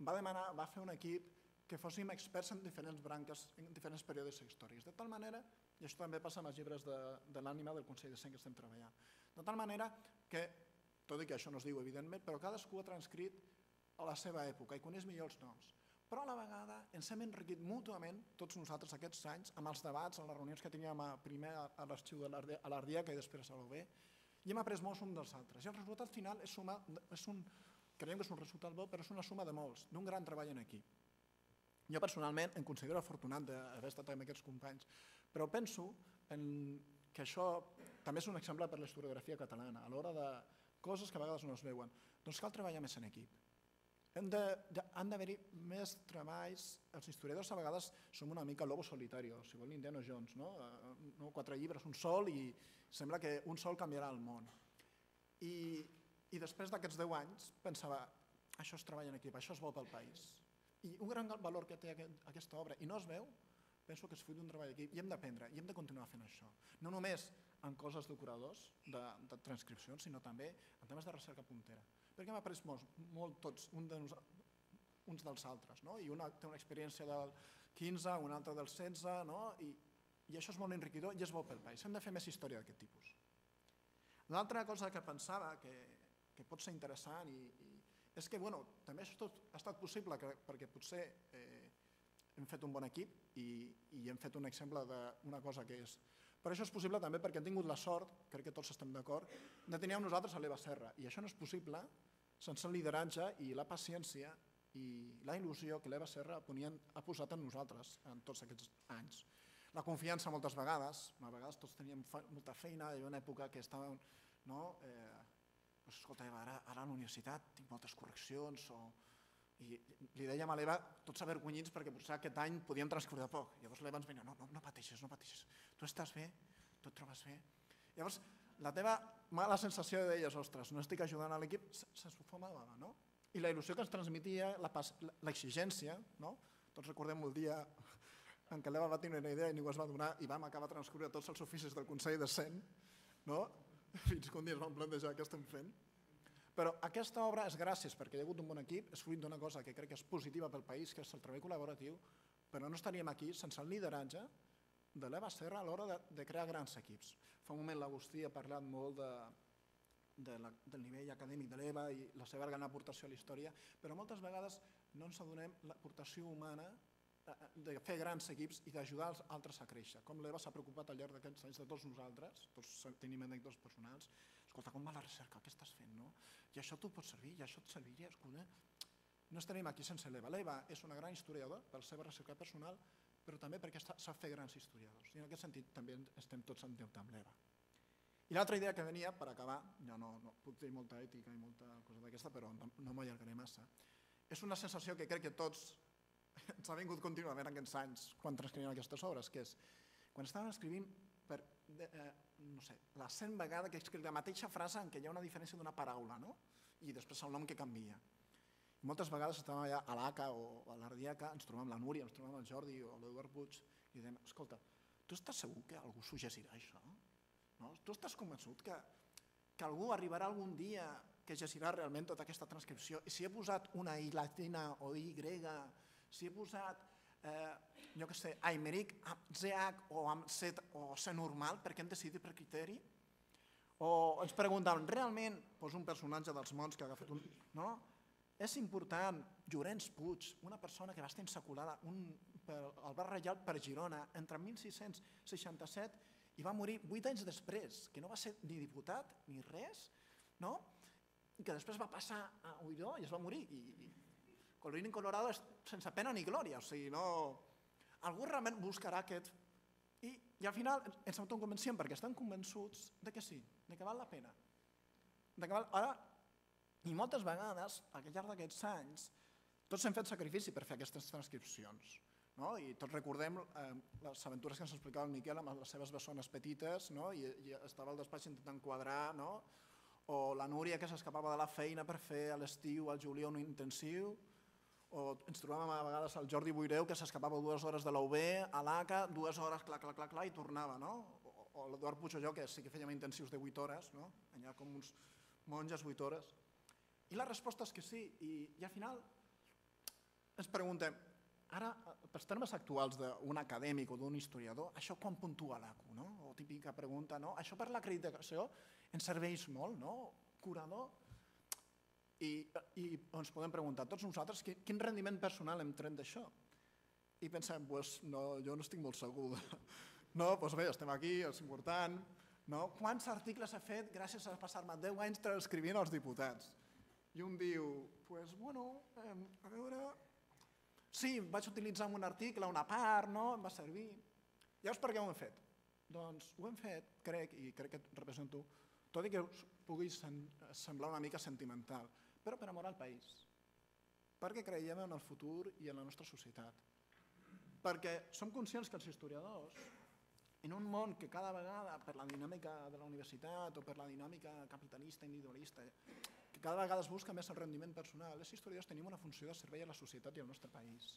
[SPEAKER 4] va demanar, va fer un equip que fóssim experts en diferents branques, en diferents períodes històrics, de tal manera, i això també passa amb els llibres de, de l'ànima del Consell de Cent que estem treballant, de tal manera que tot i que això no es diu evidentment, però cadascú ha transcrit a la seva època i coneix millor els noms. Però a la vegada ens hem enriquit mútuament, tots nosaltres aquests anys, amb els debats, en les reunions que teníem primer a l'arxiu de l'Ardiaca i després a l'O B, i hem après molts uns dels altres. I el resultat final és, suma, és un, creiem que és un resultat bo, però és una suma de molts, d'un gran treball en equip. Jo personalment em considero afortunat d'haver estat amb aquests companys, però penso en que això també és un exemple per la historiografia catalana, a l'hora de coses que a vegades no es veuen. Doncs cal treballar més en equip. Hem de, de, han d'haver-hi més treballs. Els historiadors a vegades som una mica lobo solitario, si vol l'Indiana Jones, no? no? Quatre llibres, un sol, i sembla que un sol canviarà el món. I, i després d'aquests deu anys pensava, això és treball en equip, això és bo pel país. I un gran valor que té aquest, aquesta obra, i no es veu, penso que és fruit d'un treball d'equip, i hem d'aprendre, i hem de continuar fent això. No només en coses de curadors, de, de transcripcions, sinó també en temes de recerca puntera. Perquè hem après molt, molt tots, un de nos, uns dels altres, no? I una té una experiència del quinze, una altra del setze, no? I, i això és molt enriquidor i és bo pel país. Hem de fer més història d'aquest tipus. L'altra cosa que pensava que, que pot ser interessant i, i és que bueno, també això tot ha estat possible que, perquè potser eh, hem fet un bon equip i, i hem fet un exemple d'una cosa que és... Però això és possible també perquè hem tingut la sort, crec que tots estem d'acord, de tenir amb nosaltres a l'Eva Serra. I això no és possible sense el lideratge i la paciència i la il·lusió que l'Eva Serra ha posat en nosaltres en tots aquests anys. La confiança moltes vegades, a vegades tots teníem molta feina, hi havia una època que estàvem... No? Eh, doncs, escolta, Eva, ara, ara a la universitat tinc moltes correccions o... I li dèiem a l'Eva, tots avergonyits, perquè potser aquest any podíem transcórrer poc. Llavors l'Eva ens venia, no, no, no pateixis, no pateixis. Tu estàs bé, tu et trobes bé. Llavors, la teva mala sensació de deies, ostres, no estic ajudant a l'equip, s'esfumava, no? I la il·lusió que ens transmetia, l'exigència, no? Tots recordem el dia en què l'Eva va tenir una idea i ningú es va donar i vam acabar transcorrent tots els oficis del Consell de Cent, no? Fins que un dia es van plantejar què estem fent. Però aquesta obra és gràcies perquè hi ha hagut un bon equip, és fruit d'una cosa que crec que és positiva pel país, que és el treball col·laboratiu, però no estaríem aquí sense el lideratge de l'Eva Serra a l'hora de, de crear grans equips. Fa un moment l'Agustí ha parlat molt de, de la, del nivell acadèmic de l'Eva i la seva gran aportació a la història, però moltes vegades no ens adonem l'aportació humana de fer grans equips i d'ajudar els altres a créixer. Com l'Eva s'ha preocupat al llarg d'aquests anys de tots nosaltres, tots tenim anècdotes personals, escolta, com va la recerca, què estàs fent, no? I això t'ho pot servir, i això et serviria, escolta. No estaríem aquí sense l'Eva. L'Eva és una gran historiadora per la seva recerca personal, però també perquè sap fer grans historiadors. I en aquest sentit també estem tots en deute amb l'Eva. I l'altra idea que venia, per acabar, ja no, no puc dir molta ètica i molta cosa d'aquesta, però no, no m'allargaré massa, és una sensació que crec que tots ens ha vingut contínuament aquests anys quan transcrivim aquestes obres, que és quan estàvem escrivint per, eh, no sé, la cent vegada que escric la mateixa frase en què hi ha una diferència d'una paraula, no? I després el nom que canvia. I moltes vegades estàvem allà a l'A C A o a l'Ardiaca, ens trobàvem la Núria, ens trobàvem el Jordi o l'Eduard Puig i dèiem, escolta, tu estàs segur que algú s'ho llegirà això? No? Tu estàs convençut que, que algú arribarà algun dia que llegirà realment tota aquesta transcripció? I si he posat una I latina o I grega, si he posat, eh, jo què sé, Aimeric amb Z H o amb C o C normal, perquè hem decidit per criteri? O ens preguntàvem, realment, doncs un personatge dels mons que ha agafat un... No? És important, Llorenç Puig, una persona que va estar insaculada un, per, al bar Reial per Girona entre mil sis-cents seixanta-set i va morir vuit anys després, que no va ser ni diputat ni res, no? I que després va passar a Ulló i es va morir. I, i colorín colorado sense pena ni glòria, o sigui, no... Algú realment buscarà aquest... I, i al final ens autoconvenciem perquè estan convençuts de que sí, de que val la pena. De que val... Ara, i moltes vegades, al llarg d'aquests anys, tots hem fet sacrifici per fer aquestes transcripcions. No? I tots recordem eh, les aventures que ens explicava el Miquel amb les seves bessones petites, no? I, i estava al despatx intentant quadrar, no? O la Núria que s'escapava de la feina per fer a l'estiu, al juliol, un intensiu, o ens trobàvem a vegades el Jordi Boireu que s'escapava dues hores de la U B, a l'A C A, dues hores, clar, clar, clar, clar, i tornava, no? O, o l'Eduard Puig o jo, que sí que fèiem intensius de vuit hores, no? Allà com uns monges, vuit hores. I la resposta és que sí, i, i al final ens preguntem, ara, pels termes actuals d'un acadèmic o d'un historiador, això quan puntua l'A C U, no? O típica pregunta, no? Això per l'acreditació ens serveix molt, no? Curador. I, i ens podem preguntar tots nosaltres quin rendiment personal hem tret d'això. I pensem, pues, no, jo no estic molt segur. No, doncs bé, estem aquí, és important. No? Quants articles he fet gràcies a passar-me deu anys transcrivint els diputats? I un diu, pues, bueno, eh, a veure... Sí, vaig utilitzar un article, una part, no? Em va servir. Llavors, per què ho hem fet? Doncs ho hem fet, crec, i crec que et represento, tot i que us pugui semblar una mica sentimental, però per amor al país. Perquè creiem en el futur i en la nostra societat. Perquè som conscients que els historiadors, en un món que cada vegada, per la dinàmica de la universitat o per la dinàmica capitalista, individualista, que cada vegada es busca més el rendiment personal, els historiadors tenim una funció de servei a la societat i al nostre país.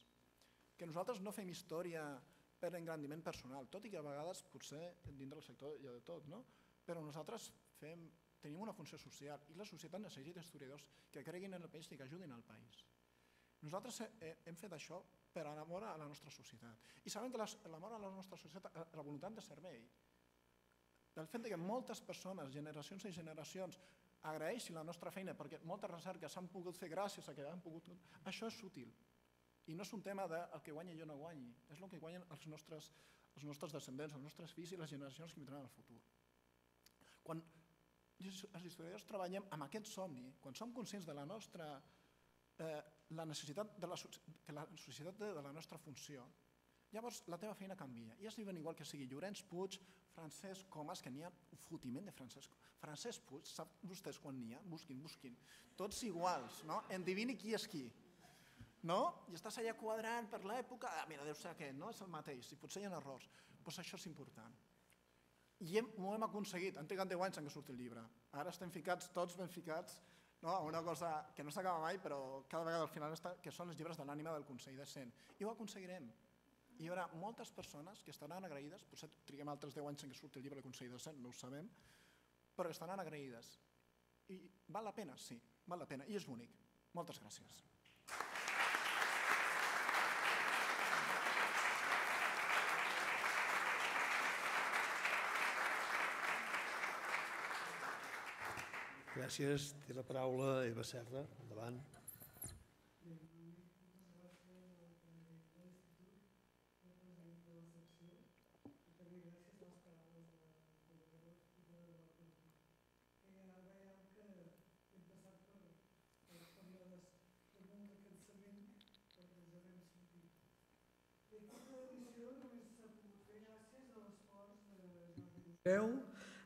[SPEAKER 4] Que nosaltres no fem història per engrandiment personal, tot i que a vegades potser dintre del sector hi ha de tot, no? Però nosaltres fem, tenim una funció social i la societat necessita historiadors que creguin en el país i que ajudin al país. Nosaltres hem fet això per amor a la nostra societat. I sabem que l'amor a la nostra societat, la voluntat de servei, del fet que moltes persones, generacions i generacions, agraeixin la nostra feina perquè moltes recerques s'han pogut fer gràcies a que han pogut... Això és útil. I no és un tema del que guanyi i jo no guanyi, és el que guanyen els nostres, els nostres descendents, els nostres fills i les generacions que vindran al futur. Quan els historiadors treballem amb aquest somni, quan som conscients de la nostra... Eh, la necessitat de la, que la societat de la nostra funció, llavors la teva feina canvia. I es diuen igual que sigui Llorenç Puig, Francesc Comas, que n'hi ha un fotiment de Francesc. Francesc Puig, sap vostès quan n'hi ha? Busquin, busquin. Tots iguals, no? Endivini qui és qui. No? I estàs allà quadrant per l'època, ah, mira, deu ser aquest, no? És el mateix, i potser hi ha errors. Doncs això és important. I hem, ho hem aconseguit, han trigat deu anys en què surti el llibre. Ara estem ficats, tots ben ficats, no? Una cosa que no s'acaba mai, però cada vegada al final està, que són els llibres de l'ànima del Consell de Cent. I ho aconseguirem. I hi haurà moltes persones que estaran agraïdes, potser triguem altres deu anys en què surti el llibre del Consell de Cent, no ho sabem, però estaran agraïdes. I val la pena? Sí, val la pena. I és bonic. Moltes gràcies.
[SPEAKER 1] Gràcies. Té la paraula Eva Serra. Endavant.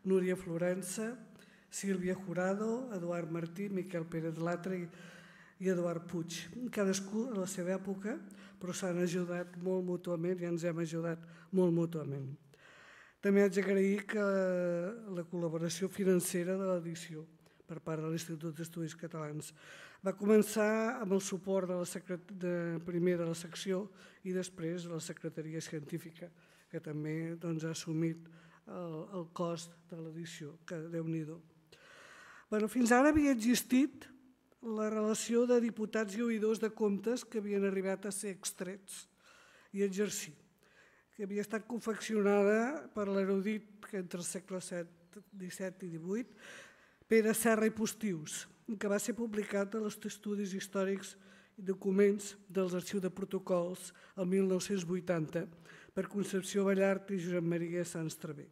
[SPEAKER 5] Núria Florença, Sílvia Jurado, Eduard Martí, Miquel Pérez Latre i Eduard Puig. Cadascú a la seva època, però s'han ajudat molt mútuament i ens hem ajudat molt mútuament. També haig d'agrair que la col·laboració financera de l'edició per part de l'Institut d'Estudis Catalans va començar amb el suport de la secret... de, primer de la secció i després de la Secretaria Científica, que també doncs, ha assumit el, el cost de l'edició, que Déu-n'hi-do. Bueno, fins ara havia existit la relació de diputats i oïdors de comptes que havien arribat a ser extrets i exercir, que havia estat confeccionada per l'erudit que entre els segles disset i divuit, Pere Serra i Postius, que va ser publicat a l'Institut d'Estudis Històrics i Documents dels Arxius de Protocols el mil nou-cents vuitanta per Concepció Ballart i Josep Maria Sans Traver,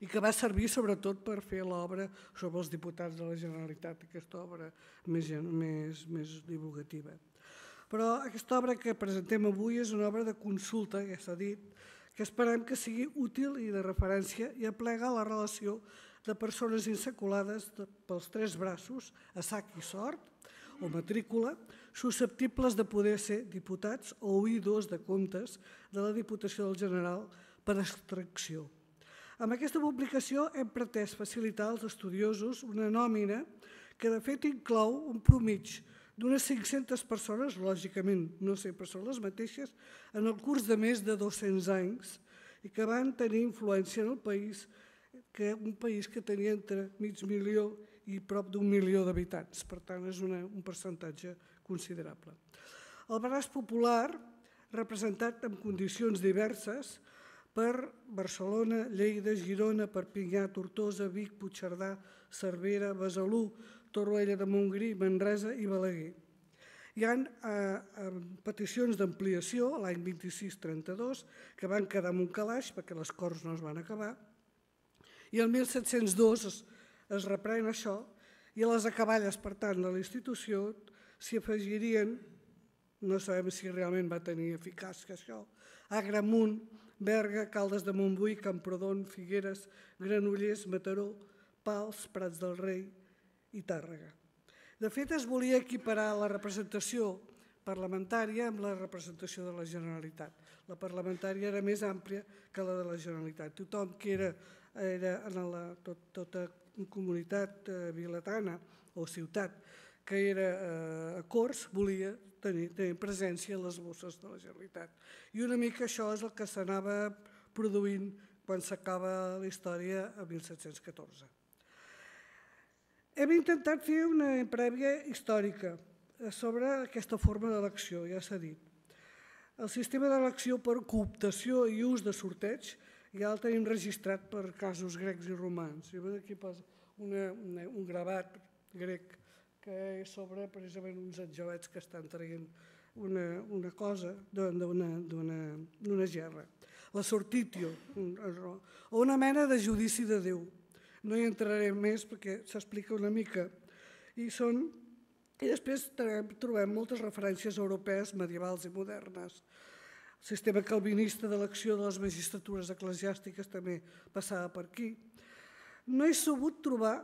[SPEAKER 5] i que va servir sobretot per fer l'obra sobre els diputats de la Generalitat, aquesta obra més, més, més divulgativa. Però aquesta obra que presentem avui és una obra de consulta, ja s'ha dit, que esperem que sigui útil i de referència i aplega la relació de persones insaculades pels tres braços, a sac i sort, o matrícula, susceptibles de poder ser diputats o oïdors de comptes de la Diputació del General per extracció. Amb aquesta publicació hem pretès facilitar als estudiosos una nòmina que de fet inclou un promig d'unes cinc-centes persones, lògicament no sempre són les mateixes, en el curs de més de dos-cents anys i que van tenir influència en el país, que un país que tenia entre mig milió i prop d'un milió d'habitants. Per tant, és una, un percentatge considerable. El braç popular, representat en condicions diverses per Barcelona, Lleida, Girona, Perpinyà, Tortosa, Vic, Puigcerdà, Cervera, Besalú, Torroella de Montgrí, Manresa i Balaguer. Hi ha eh, peticions d'ampliació l'any vint-i-sis trenta-dos que van quedar en un calaix perquè les Corts no es van acabar, i el mil set-cents dos es, es reprèn això i a les acaballes, per tant, de la institució s'hi afegirien, no sabem si realment va tenir eficàcia això, Agramunt, Berga, Caldes de Montbui, Camprodon, Figueres, Granollers, Mataró, Pals, Prats del Rei i Tàrrega. De fet, es volia equiparar la representació parlamentària amb la representació de la Generalitat. La parlamentària era més àmplia que la de la Generalitat. Tothom que era era en la, tot, tota comunitat eh, vilatana o ciutat que era eh, a Corts volia tenir, tenir presència en les bosses de la Generalitat. I una mica això és el que s'anava produint quan s'acaba la història a mil set-cents catorze. Hem intentat fer una prèvia històrica sobre aquesta forma d'elecció, ja s'ha dit. El sistema d'elecció per cooptació i ús de sorteig ja el tenim registrat per casos grecs i romans. I aquí posa una, una, un gravat grec que és sobre precisament uns angelets que estan traient una, una cosa d'una gerra. La sortitio, o una mena de judici de Déu. No hi entraré més perquè s'explica una mica. I, són, i després trobem moltes referències europees medievals i modernes. El sistema calvinista d'elecció de les magistratures eclesiàstiques també passava per aquí. No he sabut trobar,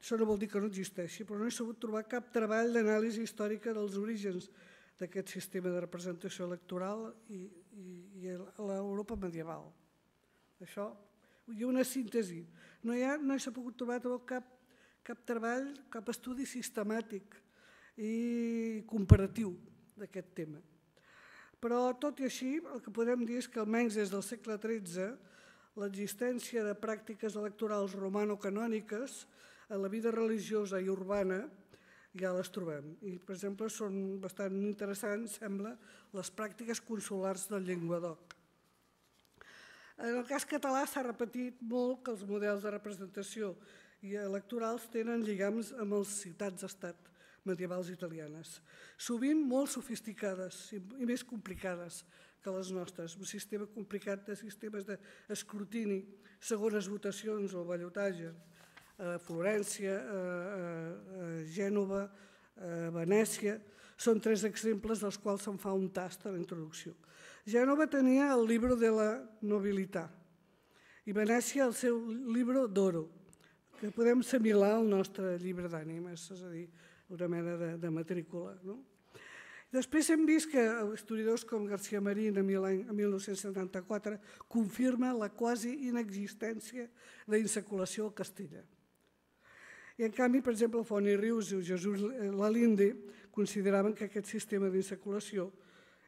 [SPEAKER 5] això no vol dir que no existeixi, però no he sabut trobar cap treball d'anàlisi històrica dels orígens d'aquest sistema de representació electoral i, i, i l'Europa medieval. Això, hi ha una síntesi. No, hi ha, no s'ha pogut trobar cap, cap treball, cap estudi sistemàtic i comparatiu d'aquest tema. Però, tot i així, el que podem dir és que almenys des del segle tretze l'existència de pràctiques electorals romano-canòniques en la vida religiosa i urbana ja les trobem. I, per exemple, són bastant interessants, sembla, les pràctiques consulars del Llenguadoc. En el cas català s'ha repetit molt que els models de representació i electorals tenen lligams amb les ciutats-estat medievals italianes, sovint molt sofisticades i més complicades que les nostres. Un sistema complicat de sistemes d'escrutini, segones votacions o ballotatge. A Florència, a Gènova, a Venècia, són tres exemples dels quals se'n fa un tast a la introducció. Gènova tenia el Libro de la Nobilitat i Venècia el seu Libro d'Oro, que podem assimilar al nostre llibre d'ànimes, és a dir, una mena de, de matrícula. No? Després hem vist que historiadors com García Marín, en mil nou-cents setanta-quatre, confirma la quasi inexistència d'insaculació al castellà. I en canvi, per exemple, Font i Rius i Jesús Lalinde consideraven que aquest sistema d'insaculació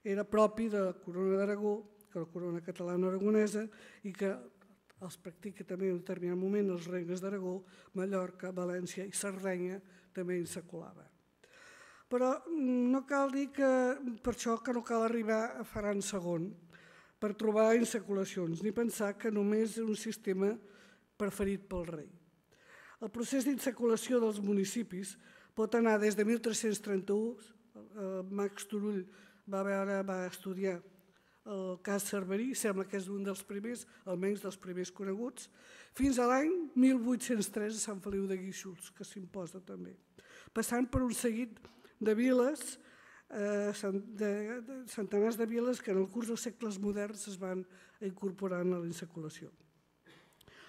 [SPEAKER 5] era propi de la corona d'Aragó, que la corona catalana-aragonesa, i que els practica també en un determinat moment els regnes d'Aragó, Mallorca, València i Sardenya també insaculaven. Però no cal dir que per això que no cal arribar a Ferran segon per trobar insaculacions, ni pensar que només és un sistema preferit pel rei. El procés d'insaculació dels municipis pot anar des de mil tres-cents trenta-u, Max Turull va, veure, va estudiar el cas Cerverí, sembla que és un dels primers, almenys dels primers coneguts, fins a l'any mil vuit-cents tres a Sant Feliu de Guíxols, que s'imposa també, passant per un seguit de viles, centenars de viles que en el curs dels segles moderns es van incorporant a la insaculació.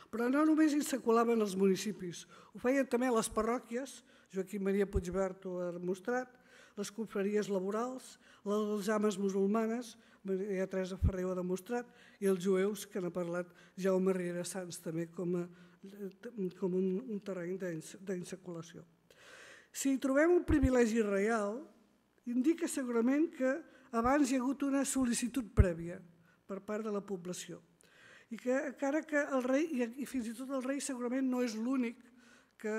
[SPEAKER 5] Però no només insaculaven els municipis, ho feien també les parròquies, Joaquim Maria Puigvert ho ha demostrat, les confraries laborals, les ames musulmanes, Maria Teresa Ferrer ho ha demostrat, i els jueus, que n'ha parlat Jaume Riera Sans també com un terreny d'insaculació. Si hi trobem un privilegi reial, indica segurament que abans hi ha hagut una sol·licitud prèvia per part de la població i que encara que el rei, i fins i tot el rei segurament no és l'únic que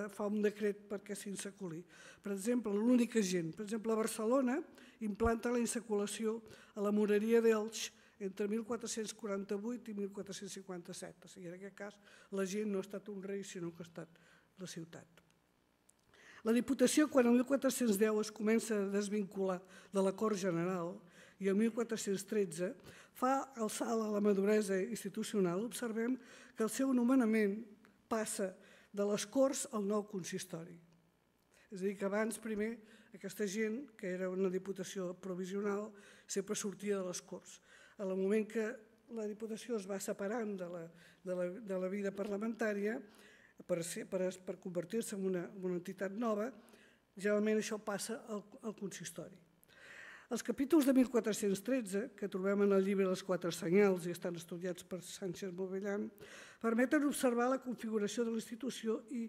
[SPEAKER 5] fa un decret perquè s'insaculi. Per exemple, l'únic agent. Per exemple, a Barcelona implanta la insaculació a la moreria d'Elx entre mil quatre-cents quaranta-vuit i mil quatre-cents cinquanta-set. O sigui, en aquest cas, l'agent no ha estat un rei, sinó que ha estat la ciutat. La Diputació, quan el mil quatre-cents deu es comença a desvincular de la Cort General i el mil quatre-cents tretze fa el salt a la maduresa institucional, observem que el seu nomenament passa de les Corts al nou consistori. És a dir, que abans, primer, aquesta gent, que era una Diputació provisional, sempre sortia de les Corts. En el moment que la Diputació es va separant de la vida parlamentària, per convertir-se en una entitat nova, generalment això passa al consistori. Els capítols de mil quatre-cents tretze, que trobem en el llibre Les quatre senyals i estan estudiats per Sánchez Movellan, permeten observar la configuració de la institució i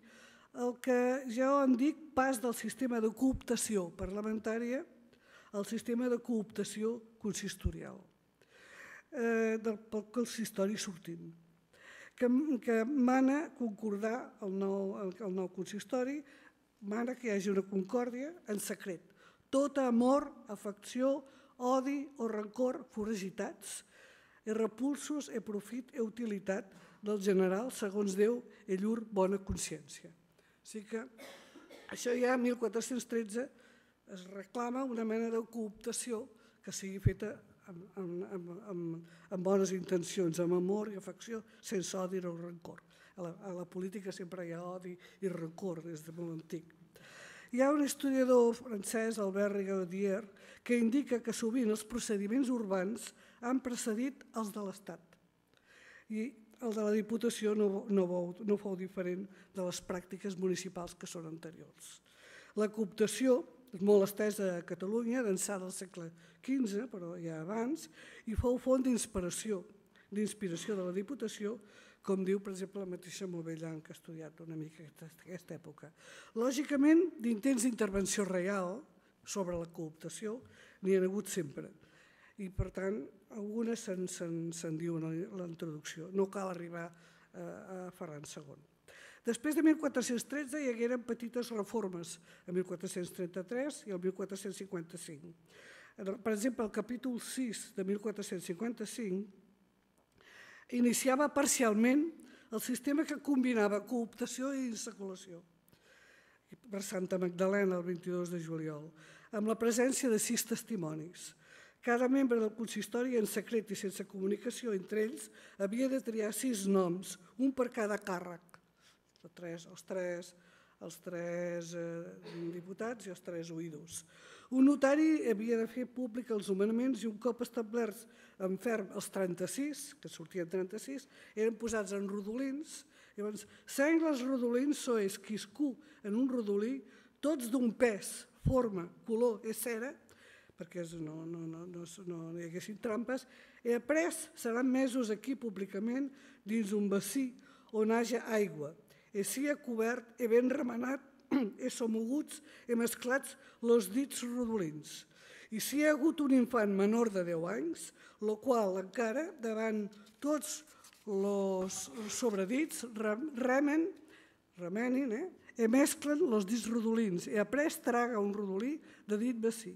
[SPEAKER 5] el que ja en dic pas del sistema de cooptació parlamentària al sistema de cooptació consistorial, del consistori sortint, que mana concordar el nou consistori, mana que hi hagi una concòrdia en secret. Tot amor, afecció, odi o rancor foragitats, e repulsos e profit e utilitat del general segons Déu e llur bona consciència. O sigui que això ja a mil quatre-cents tretze es reclama una mena de cooptació que sigui feta amb bones intencions, amb amor i afecció, sense odi o rancor. A la política sempre hi ha odi i rancor des de molt antic. Hi ha un historiador francès, Albert Rigaudier, que indica que sovint els procediments urbans han precedit els de l'Estat. I el de la Diputació no fou diferent de les pràctiques municipals que són anteriors. La cooptació és molt estesa a Catalunya, d'ençà del segle quinze, però ja abans, i fou font d'inspiració de la Diputació, com diu, per exemple, la mateixa Movellan, que ha estudiat una mica aquesta època. Lògicament, d'intents d'intervenció real sobre la cooptació n'hi ha hagut sempre. I, per tant, algunes se'n diu en la introducció. No cal arribar a Ferran segon. Després de mil quatre-cents tretze hi hagueren petites reformes, el mil quatre-cents trenta-tres i el mil quatre-cents cinquanta-cinc. Per exemple, el capítol sis de mil quatre-cents cinquanta-cinc iniciava parcialment el sistema que combinava cooptació i insaculació per Santa Magdalena el vint-i-dos de juliol, amb la presència de sis testimonis. Cada membre del consistori, en secret i sense comunicació entre ells, havia de triar sis noms, un per cada càrrec. Els tres, els tres diputats i els tres oïdors. Un notari havia de fer públic els nomenaments i un cop establerts en ferm els trenta-sis, que sortien trenta-sis, eren posats en rodolins. Llavors, sengles rodolins sois quiscú en un rodolí, tots d'un pes, forma, color i cera, perquè no, no, no, no, no hi haguessin trampes, i après seran mesos aquí públicament dins un bací on haja aigua, i sia cobert i ben remenat i somoguts i mesclats los dits rodolins. I si hi ha hagut un infant menor de deu anys, el qual encara davant tots els sobredits remen, remenin, eh? i mesclen els dits rodolins i après traga un rodolí de dit bací.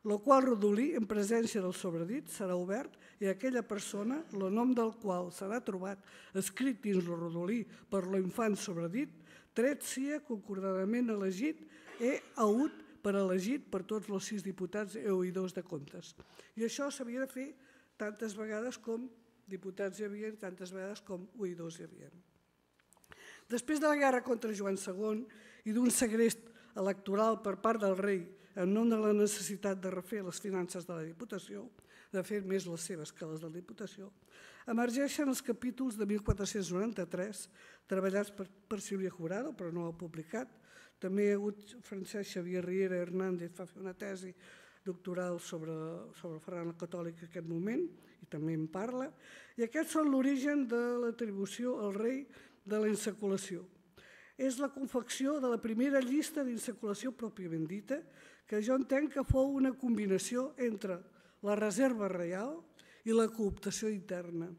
[SPEAKER 5] El qual rodolí, en presència del sobredit, serà obert i aquella persona, el nom del qual serà trobat escrit dins el rodolí per l'infant sobredit, tret sia concordadament elegit i hagut per elegit per tots els sis diputats i oïdors de comptes. I això s'havia de fer tantes vegades com diputats hi havia i tantes vegades com oïdors hi havia. Després de la guerra contra Joan segon i d'un segrest electoral per part del rei en nom de la necessitat de refer les finances de la Diputació, de fer més les seves que les de la Diputació, emergeixen els capítols de mil quatre-cents noranta-tres, treballats per, per Sílvia Jurado, però no ho ha publicat. També hi ha hagut Francesc Xavier Riera Hernández, va fer una tesi doctoral sobre, sobre el Ferran el Catòlic en aquest moment, i també en parla, i aquests són l'origen de l'atribució al rei de la insaculació. És la confecció de la primera llista d'insaculació pròpiament dita, que jo entenc que fou una combinació entre la reserva reial i la cooptació interna.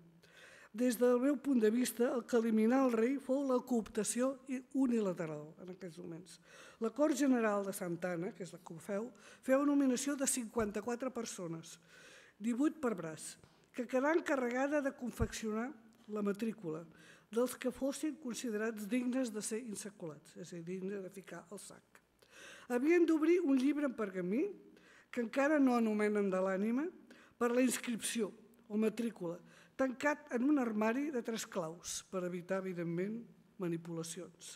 [SPEAKER 5] Des del meu punt de vista, el que eliminà el rei fou la cooptació unilateral en aquells moments. La Cort General de Santa Anna, que és la que ho feu, feu nominació de cinquanta-quatre persones, divuit per braç, que quedà encarregada de confeccionar la matrícula dels que fossin considerats dignes de ser insaculats, és a dir, dignes de ficar al sac. Havien d'obrir un llibre en pergamí, que encara no anomenen de l'ànima, per la inscripció o matrícula, tancat en un armari de tres claus, per evitar, evidentment, manipulacions.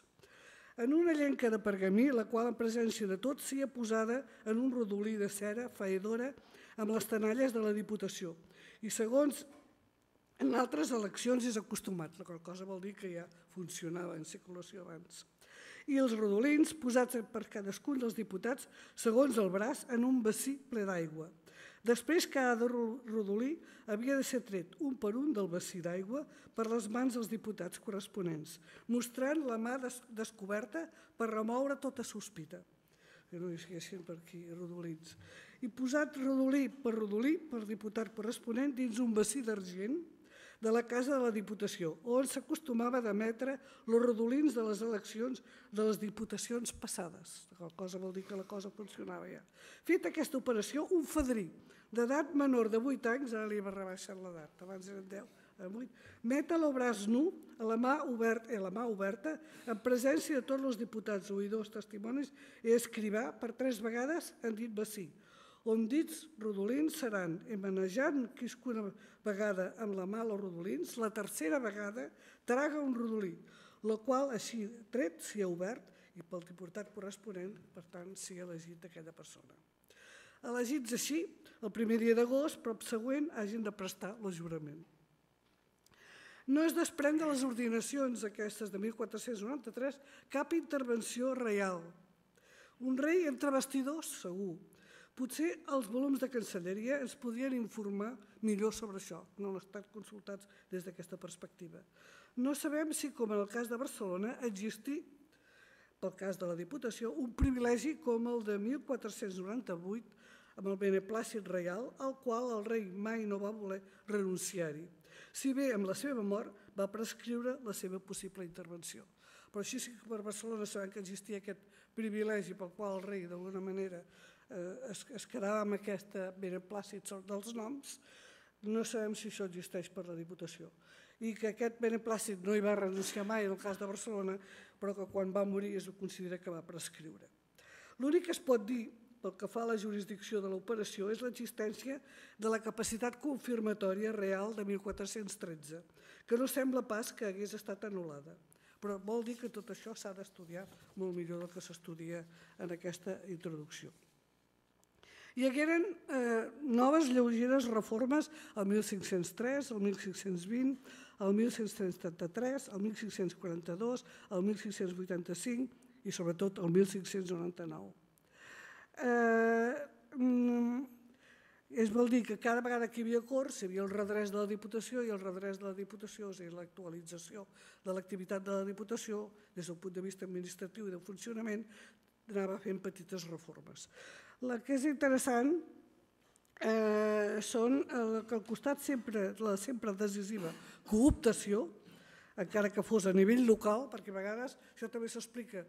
[SPEAKER 5] En una llenca de pergamí, la qual en presència de tots sia posada en un rodolí de cera faedora amb les tenalles de la Diputació. I segons en altres eleccions és acostumat, la qual cosa vol dir que ja funcionava en circulació abans. I els rodolins posats per cadascun dels diputats segons el braç en un bací ple d'aigua. Després, cada rodolí havia de ser tret un per un del bací d'aigua per les mans dels diputats corresponents, mostrant la mà descoberta per remoure tota sospita, que no hi siguessin per aquí rodolins. I posat rodolí per rodolí per diputat corresponent dins un bací d'argent de la Casa de la Diputació, on s'acostumava d'emetre els rodolins de les eleccions de les diputacions passades. La cosa vol dir que la cosa funcionava ja. Feta aquesta operació, un fadrí d'edat menor de vuit anys, ara li va rebaixar l'edat, abans eren deu, vuit, met el braç nu a la mà oberta, a la mà oberta en presència de tots els diputats, oïdors, testimonis i escrivà per tres vegades en dit bací, on dits rodolins seran emanejant quiscuna vegada amb la mà els rodolins, la tercera vegada traga un rodolí, el qual així tret s'hi ha obert i pel diputat corresponent, per tant, s'hi ha elegit d'aquella persona. Elegits així, el primer dia d'agost, prop següent, hagin de prestar el jurament. No es desprèn de les ordinacions aquestes de mil quatre-cents noranta-tres cap intervenció reial. Un rei entre vestidors, segur. Potser els volums de Cancelleria ens podrien informar millor sobre això, no han estat consultats des d'aquesta perspectiva. No sabem si, com en el cas de Barcelona, existí, pel cas de la Diputació, un privilegi com el de mil quatre-cents noranta-vuit amb el beneplàcit reial, al qual el rei mai no va voler renunciar-hi, si bé amb la seva mort va prescriure la seva possible intervenció. Però així sí que per Barcelona sabem que existia aquest privilegi pel qual el rei, d'alguna manera, es quedava amb aquest beneplàcit dels noms, no sabem si això existeix per la Diputació. I que aquest beneplàcit no hi va renunciar mai en el cas de Barcelona, però que quan va morir es considera que va prescriure. L'únic que es pot dir, pel que fa a la jurisdicció de l'operació, és l'existència de la capacitat confirmatòria real de mil quatre-cents tretze, que no sembla pas que hagués estat anul·lada. Però vol dir que tot això s'ha d'estudiar molt millor del que s'estudia en aquesta introducció. Hi hagueren noves lleugeres reformes el mil cinc-cents tres, el mil cinc-cents vint, el mil cinc-cents trenta-tres, el mil cinc-cents quaranta-dos, el mil cinc-cents vuitanta-cinc i sobretot el mil cinc-cents noranta-nou. Es vol dir que cada vegada que hi havia corts hi havia el redreix de la Diputació i el redreix de la Diputació, és a dir, l'actualització de l'activitat de la Diputació des del punt de vista administratiu i de funcionament, anava fent petites reformes. La que és interessant són que al costat sempre, la sempre decisiva cooptació, encara que fos a nivell local, perquè a vegades això també s'explica,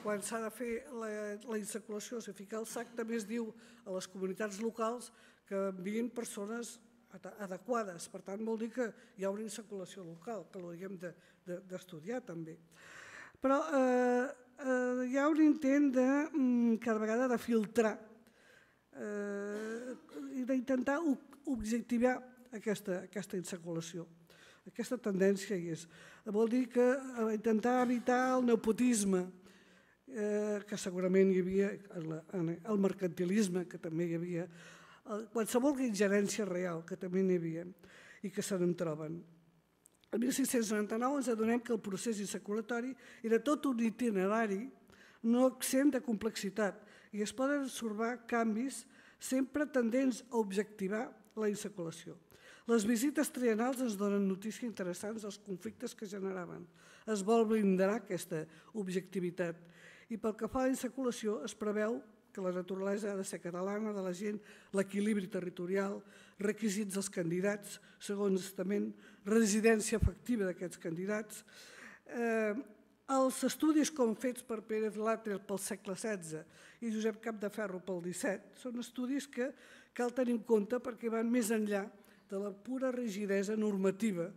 [SPEAKER 5] quan s'ha de fer la insaculació, si ficar el sac, també es diu a les comunitats locals que envien persones adequades. Per tant, vol dir que hi ha una insaculació local, que l'hauríem d'estudiar també. Però hi ha un intent de, cada vegada, de filtrar i d'intentar objectivar aquesta insaculació. Aquesta tendència hi és. Vol dir que intentar evitar el nepotisme, que segurament hi havia, el mercantilisme, que també hi havia, qualsevol ingerència real, que també n'hi havia, i que se n'en troben. El mil cinc-cents noranta-nou ens adonem que el procés insaculatori era tot un itinerari no exempt de complexitat i es poden observar canvis sempre tendents a objectivar la insaculació. Les visites triennals ens donen notícies interessants dels conflictes que generaven. Es vol blindar aquesta objectivitat i pel que fa a la insaculació es preveu que la naturalesa ha de ser catalana de la gent, l'equilibri territorial, requisits dels candidats, segons estament, residència efectiva d'aquests candidats. Els estudis com fets per Pérez Latre pel segle setze i Josep Capdeferro pel disset són estudis que cal tenir en compte perquè van més enllà de la pura rigidesa normativa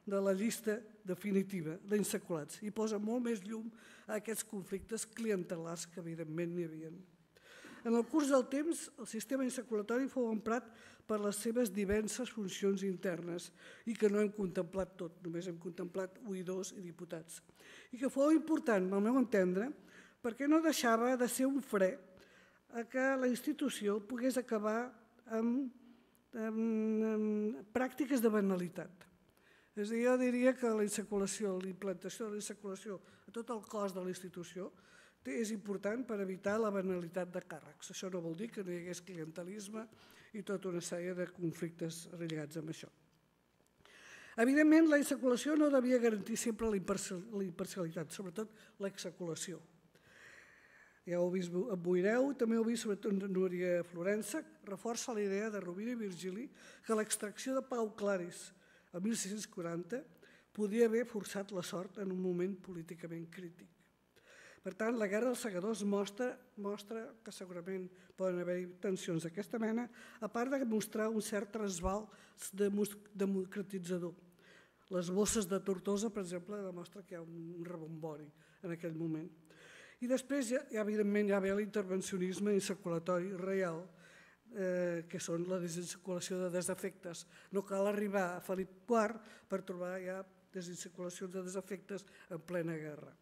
[SPEAKER 5] de la llista definitiva d'insaculats i posa molt més llum a aquests conflictes clientelars que evidentment n'hi havia. En el curs del temps, el sistema insaculatori fou emprat per les seves diverses funcions internes i que no hem contemplat tot, només hem contemplat oïdors i diputats. I que fou important, al meu entendre, perquè no deixava de ser un fre a que la institució pogués acabar amb pràctiques de banalitat. És a dir, jo diria que la insaculació, la implantació de la insaculació a tot el cos de la institució és important per evitar la banalitat de càrrecs. Això no vol dir que no hi hagués clientelisme i tota una sèrie de conflictes relligats amb això. Evidentment, la insaculació no devia garantir sempre la imparcialitat, sobretot l'exaculació. Ja ho veureu, també ho he vist sobretot Núria Florença, reforça la idea de Rovira i Virgili que l'extracció de Pau Claris el mil sis-cents quaranta podia haver forçat la sort en un moment políticament crític. Per tant, la Guerra dels Segadors mostra que segurament poden haver-hi tensions d'aquesta mena, a part de mostrar un cert trasbal democratitzador. Les bosses de Tortosa, per exemple, demostra que hi ha un rebombori en aquell moment. I després, evidentment, hi ha l'intervencionisme insaculatori real, que són la desinsaculació de desafectes. No cal arribar a Felip quart per trobar ja desinsaculacions de desafectes en plena guerra.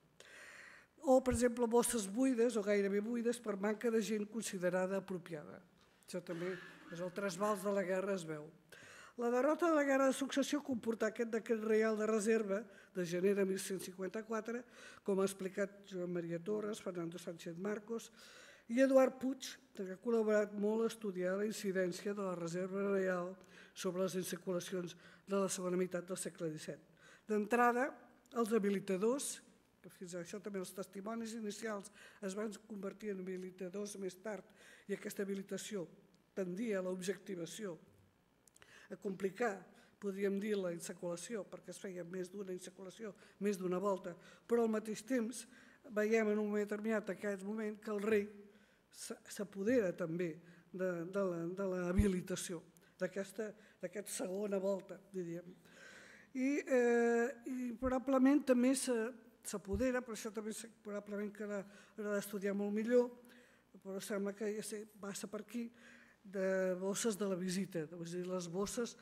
[SPEAKER 5] O, per exemple, bosses buides o gairebé buides per manca de gent considerada apropiada. Això també és el trasbals de la guerra, es veu. La derrota de la Guerra de Successió comportà aquest decret reial de reserva de gener de mil cent cinquanta-quatre, com ha explicat Joan Maria Torres, Fernando Sánchez Marcos i Eduard Puig, que ha col·laborat molt a estudiar la incidència de la reserva reial sobre les insaculacions de la segona meitat del segle disset. D'entrada, els habilitadors, que fins a això també els testimonis inicials es van convertir en habilitadors més tard i aquesta habilitació tendia a l'objectivació, a complicar, podríem dir, la insaculació, perquè es feia més d'una insaculació, més d'una volta, però al mateix temps veiem en un moment determinat, en aquest moment, que el rei s'apodera també de l'habilitació, d'aquesta segona volta, diríem. I probablement també s'apodera, però això també probablement que l'ha d'estudiar molt millor, però sembla que passa per aquí, de bosses de la visita, és a dir, les bosses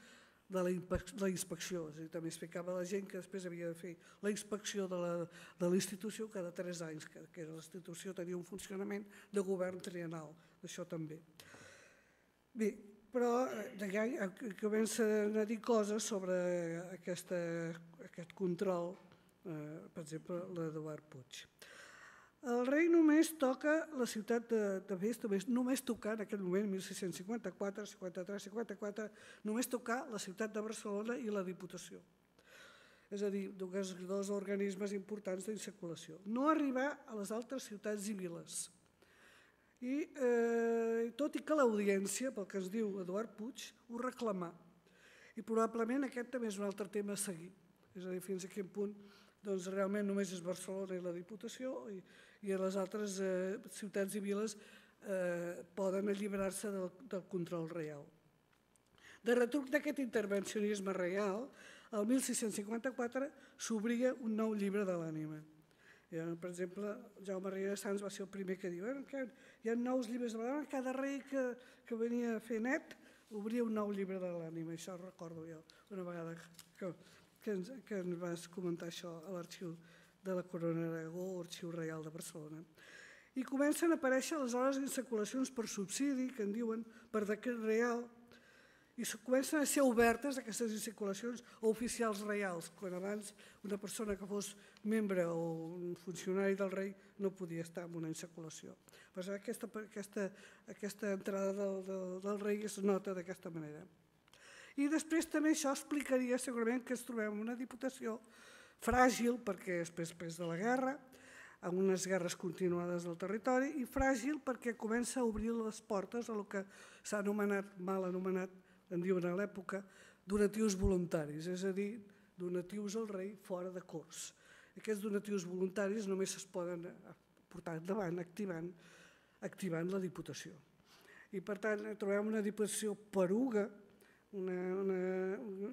[SPEAKER 5] de la inspecció. És a dir, també explicava a la gent que després havia de fer la inspecció de la institució cada tres anys, que la institució tenia un funcionament de govern triennal, això també. Bé, però ja comencen a dir coses sobre aquest control, per exemple, l'Eduard Puig. El rei només toca la ciutat de Best, només tocar en aquell moment, mil sis-cents cinquanta-quatre, cinquanta-tres, cinquanta-quatre, només tocar la ciutat de Barcelona i la Diputació. És a dir, dos organismes importants d'insaculació. No arribar a les altres ciutats i viles. I tot i que l'audiència, pel que ens diu Eduard Puig, ho reclamà. I probablement aquest també és un altre tema a seguir. És a dir, fins a quin punt realment només és Barcelona i la Diputació i les altres ciutats i viles poden alliberar-se del control reial. De retruc d'aquest intervencionisme reial, el mil sis-cents cinquanta-quatre s'obria un nou llibre de l'ànima. Per exemple, Jaume Riera Sans va ser el primer que diu que hi ha nous llibres de l'ànima, cada rei que venia a fer net obria un nou llibre de l'ànima, això recordo jo una vegada que ens vas comentar això a l'arxiu de la Corona d'Aragó o Arxiu Reial de Barcelona. I comencen a aparèixer aleshores insaculacions per subsidi, que en diuen per decret real, i comencen a ser obertes aquestes insaculacions a oficials reials, quan abans una persona que fos membre o un funcionari del rei no podia estar en una insaculació. Aquesta entrada del rei es nota d'aquesta manera. I després també això explicaria segurament que ens trobem en una Diputació fràgil, perquè és després de la guerra, amb unes guerres continuades del territori, i fràgil perquè comença a obrir les portes a el que s'ha anomenat, mal anomenat, en diuen a l'època, donatius voluntaris, és a dir, donatius al rei fora de cors. Aquests donatius voluntaris només es poden portar endavant activant la Diputació. I per tant trobem una Diputació poruga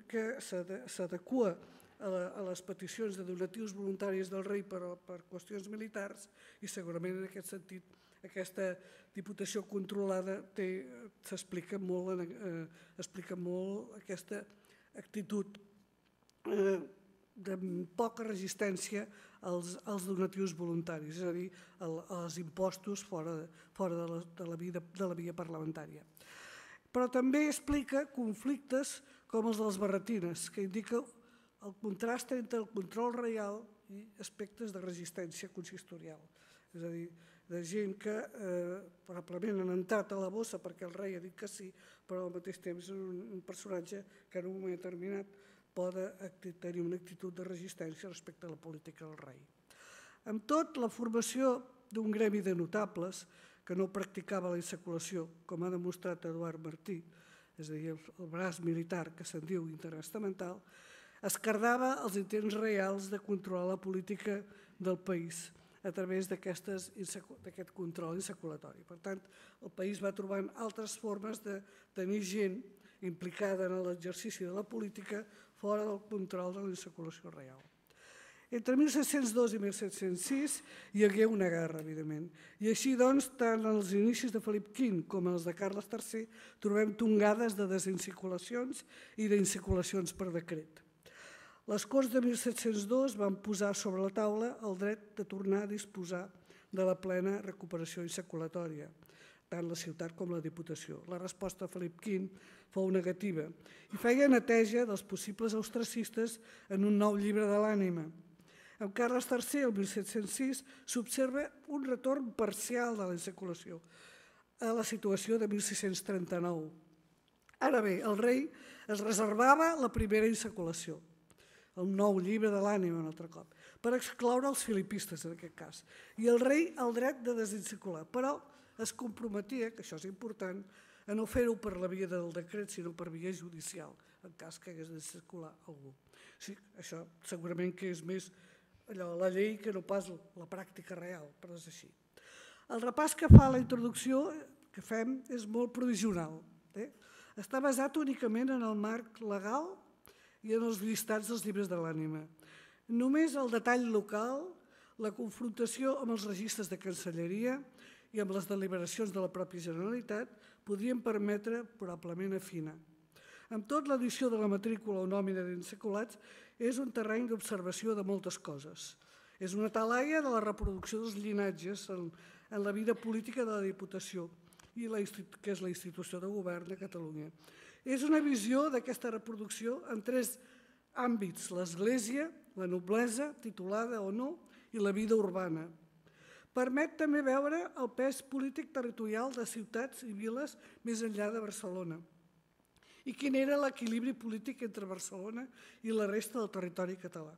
[SPEAKER 5] que s'adequa a les peticions de donatius voluntaris del rei per qüestions militars i segurament en aquest sentit aquesta Diputació controlada s'explica molt aquesta actitud de poca resistència als donatius voluntaris, és a dir, als impostos fora de la via parlamentària. Però també explica conflictes com els dels barretines, que indica el contrast entre el control reial i aspectes de resistència consistorial. És a dir, de gent que probablement han entrat a la bossa perquè el rei ha dit que sí, però al mateix temps és un personatge que en un moment determinat pot tenir una actitud de resistència respecte a la política del rei. Amb tot, la formació d'un gremi de notables que no practicava la insaculació, com ha demostrat Eduard Martí, és a dir, el braç militar que se'n diu interestamental, esquerdava els intents reals de controlar la política del país a través d'aquest control insaculatori. Per tant, el país va trobant altres formes de tenir gent implicada en l'exercici de la política fora del control de la insaculació real. Entre mil set-cents dos i mil set-cents sis hi hagué una guerra, evidentment, i així doncs, tant als inicis de Felip quint com els de Carles tercer trobem tongades de desinsaculacions i d'insaculacions per decret. Les Corts de mil set-cents dos van posar sobre la taula el dret de tornar a disposar de la plena recuperació insaculatòria, tant la ciutat com la Diputació. La resposta a Felip quint fou negativa i feia neteja dels possibles austracistes en un nou llibre de l'ànima. Amb Carles tercer, el mil set-cents sis, s'observa un retorn parcial de la insaculació a la situació de mil sis-cents trenta-nou. Ara bé, el rei es reservava la primera insaculació, el nou llibre de l'ànima un altre cop, per excloure els filipistes en aquest cas, i el rei el dret de desinsacular, però es comprometia, que això és important, a no fer-ho per la via del decret, sinó per via judicial, en cas que hagués de circular algú. Sí, això segurament que és més allò, la llei que no pas la pràctica real, però és així. El repàs que fa la introducció que fem és molt provisional. Eh? Està basat únicament en el marc legal i en els llistats dels llibres de l'ànima. Només el detall local, la confrontació amb els registres de Cancelleria i amb les deliberacions de la pròpia Generalitat podrien permetre probablement afinar. Amb tot, l'edició de la matrícula o nòmina d'insaculats és un terreny d'observació de moltes coses. És una talaia de la reproducció dels llinatges en, en la vida política de la Diputació, i la, que és la institució de govern de Catalunya. És una visió d'aquesta reproducció en tres àmbits: l'església, la noblesa, titulada o no, i la vida urbana. Permet també veure el pes polític territorial de ciutats i viles més enllà de Barcelona i quin era l'equilibri polític entre Barcelona i la resta del territori català.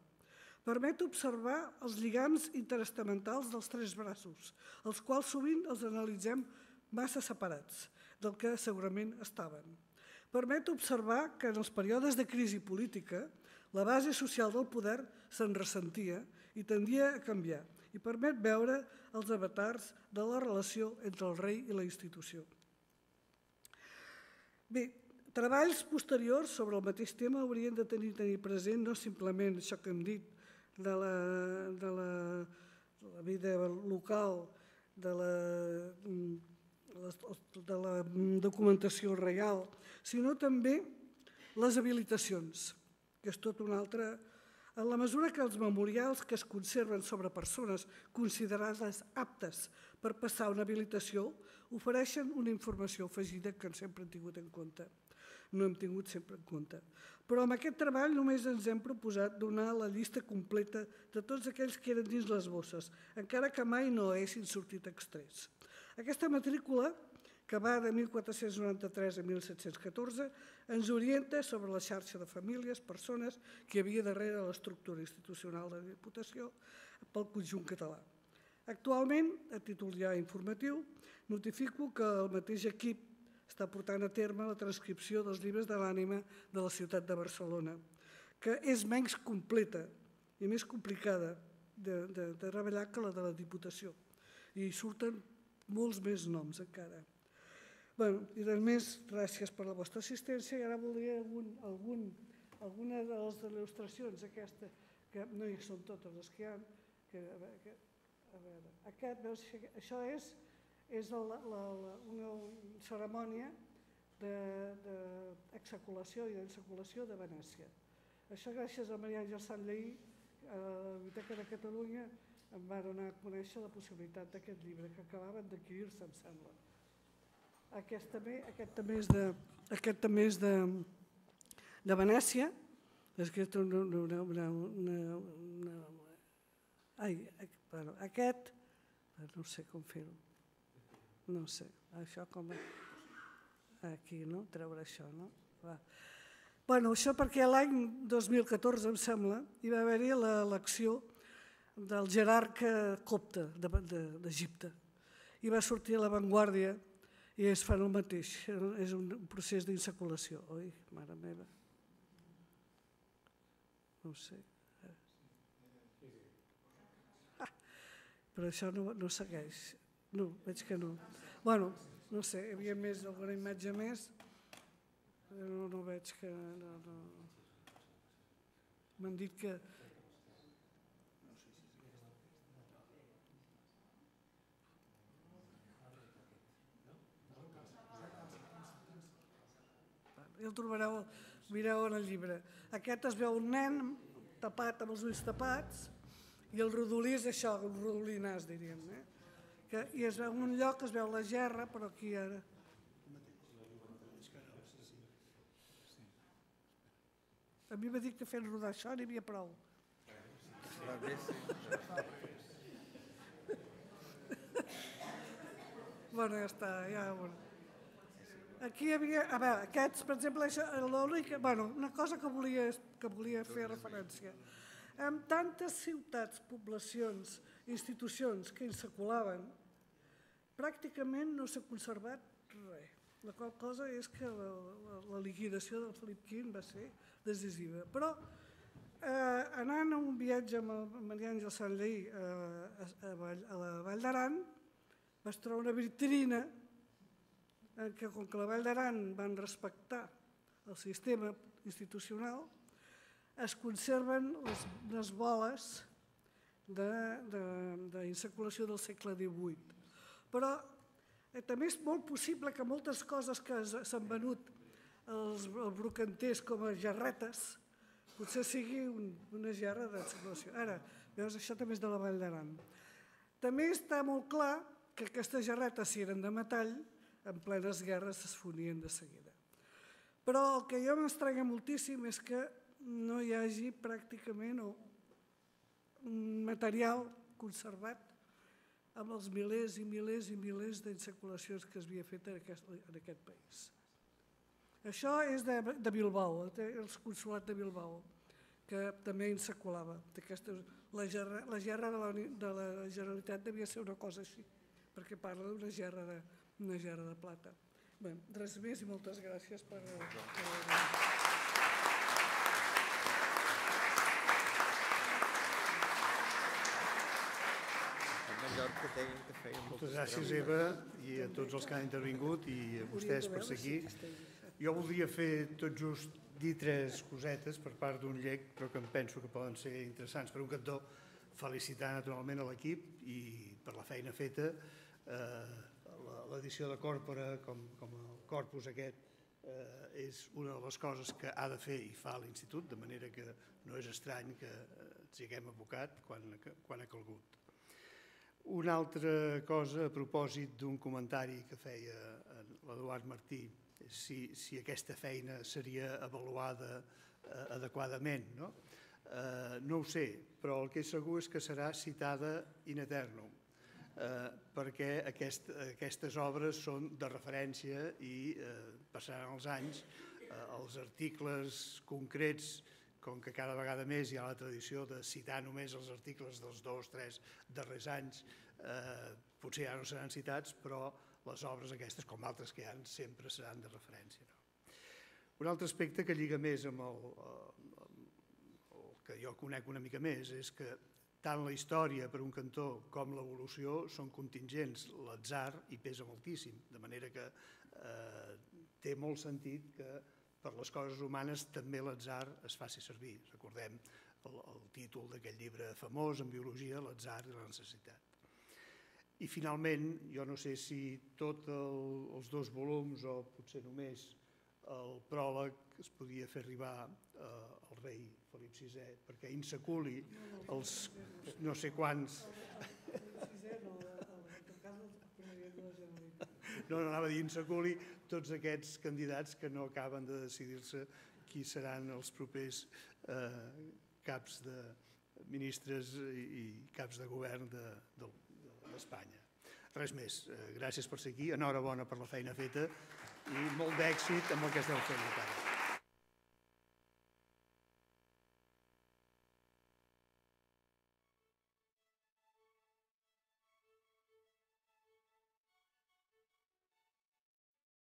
[SPEAKER 5] Permet observar els lligams interestamentals dels tres braços, els quals sovint els analitzem massa separats del que segurament estaven. Permet observar que en els períodes de crisi política la base social del poder se'n ressentia i tendia a canviar, i permet veure els avatars de la relació entre el rei i la institució. Bé, treballs posteriors sobre el mateix tema haurien de tenir, tenir present no simplement això que hem dit de la, de la, de la vida local, de la, de la documentació real, sinó també les habilitacions, que és tot un altre. En la mesura que els memorials que es conserven sobre persones considerades aptes per passar una habilitació ofereixen una informació afegida que sempre hem tingut en compte. No hem tingut sempre en compte. Però amb aquest treball només ens hem proposat donar la llista completa de tots aquells que eren dins les bosses, encara que mai no haguessin sortit extrets. Aquesta matrícula, que va de mil quatre-cents noranta-tres a mil set-cents catorze, ens orienta sobre la xarxa de famílies, persones que hi havia darrere l'estructura institucional de la Diputació pel conjunt català. Actualment, a títol ja informatiu, notifico que el mateix equip està portant a terme la transcripció dels llibres de l'ànima de la ciutat de Barcelona, que és menys completa i més complicada de, de, de treballar que la de la Diputació. I surten molts més noms encara. Bueno, i res més, gràcies per la vostra assistència, i ara voldria algun, algun, alguna de les il·lustracions, aquesta, que no hi són totes les que hi ha, que, que, a veure, aquest, veus, això és, és la, la, la, una cerimònia d'exsaculació i d'ensaculació de Venècia. Això gràcies a Maria Àngels Sanllehy, a la Biblioteca de Catalunya, em va donar a conèixer la possibilitat d'aquest llibre, que acabaven d'adquirir-se, em sembla. Aquest també, aquest també és de, aquest també és de, de Venècia. És que una, una, una, una, una, ai, bueno, aquest, no sé com fer-ho. No sé, això com... Aquí, no? Treure això, no? Va. Bueno, això perquè l'any dos mil catorze, em sembla, hi va haver-hi l'elecció del jerarca copte d'Egipte. I va sortir a l'avantguàrdia i es fan el mateix. És un procés d'insaculació, oi? Mare meva. No ho sé. Ah, però això no, no segueix. No, veig que no. Bueno, no sé, hi havia més, alguna imatge més, però no, no veig que... No, no. M'han dit que... Ja el trobareu, mireu en el llibre. Aquest es veu un nen tapat amb els ulls tapats i el rodolí és això, un rodolí nas, diríem. Eh? Que, I es veu en un lloc, es veu la gerra, però aquí ara... A mi m'ha dit que fent rodar això n'hi havia prou. Bueno, ja està, ja... Aquí hi havia... A veure, aquests, per exemple, l'única... Bueno, una cosa que volia, que volia fer referència. Amb tantes ciutats, poblacions, institucions que insaculaven, pràcticament no s'ha conservat res. La qual cosa és que la, la, la liquidació del Felip quinze va ser decisiva. Però eh, anant a un viatge amb el Maria Àngels Sanllehy eh, a, a, a la Vall d'Aran, vaig trobar una vitrina en què, com que la Vall d'Aran van respectar el sistema institucional, es conserven les, les boles d'insaculació de, de, del segle divuit. Però eh, també és molt possible que moltes coses que s'han venut els brocanters com a gerretes, potser sigui una gerra d'excavació. Ara, veus, això també és de la Vall d'Aran. També està molt clar que aquestes gerretes, si eren de metall, en plenes guerres es fonien de seguida. Però el que jo m'estranya moltíssim és que no hi hagi pràcticament un material conservat amb els milers i milers i milers d'insaculacions que es havia fet en aquest país. Això és de Bilbao, el consolat de Bilbao, que també insaculava. La gerra de la Generalitat devia ser una cosa així, perquè parla d'una gerra de plata. Bé, res més i moltes gràcies per...
[SPEAKER 1] Moltes gràcies, Eva, i a tots els que han intervingut i a vostès per seguir. Jo voldria fer tot just dir tres cosetes per part d'un llec, però que em penso que poden ser interessants. Per un cantó, felicitar naturalment a l'equip i per la feina feta. L'edició de Còrpora, com el corpus aquest, és una de les coses que ha de fer i fa l'Institut, de manera que no és estrany que ens hi haguem abocat quan ha calgut. Una altra cosa a propòsit d'un comentari que feia l'Eduard Martí, si aquesta feina seria avaluada adequadament. No ho sé, però el que és segur és que serà citada in eternum, perquè aquestes obres són de referència i passaran els anys, els articles concrets, com que cada vegada més hi ha la tradició de citar només els articles dels dos o tres darrers anys, potser ja no seran citats, però les obres aquestes, com altres que hi ha, sempre seran de referència. Un altre aspecte que lliga més amb el que jo conec una mica més és que tant la història per un cantó com l'evolució són contingents, l'atzar hi pesa moltíssim, de manera que té molt sentit que per les coses humanes també l'atzar es faci servir. Recordem el títol d'aquest llibre famós en biologia, l'atzar i la necessitat. I finalment, jo no sé si tots els dos volums o potser només el pròleg es podia fer arribar al rei Felip sisè, perquè insaculi els no sé quants... No, no, anava a dir insaculi tots aquests candidats que no acaben de decidir-se qui seran els propers caps de ministres i caps de govern d'Espanya. Res més, gràcies per ser aquí, enhorabona per la feina feta i molt d'èxit amb el que esteu fent encara.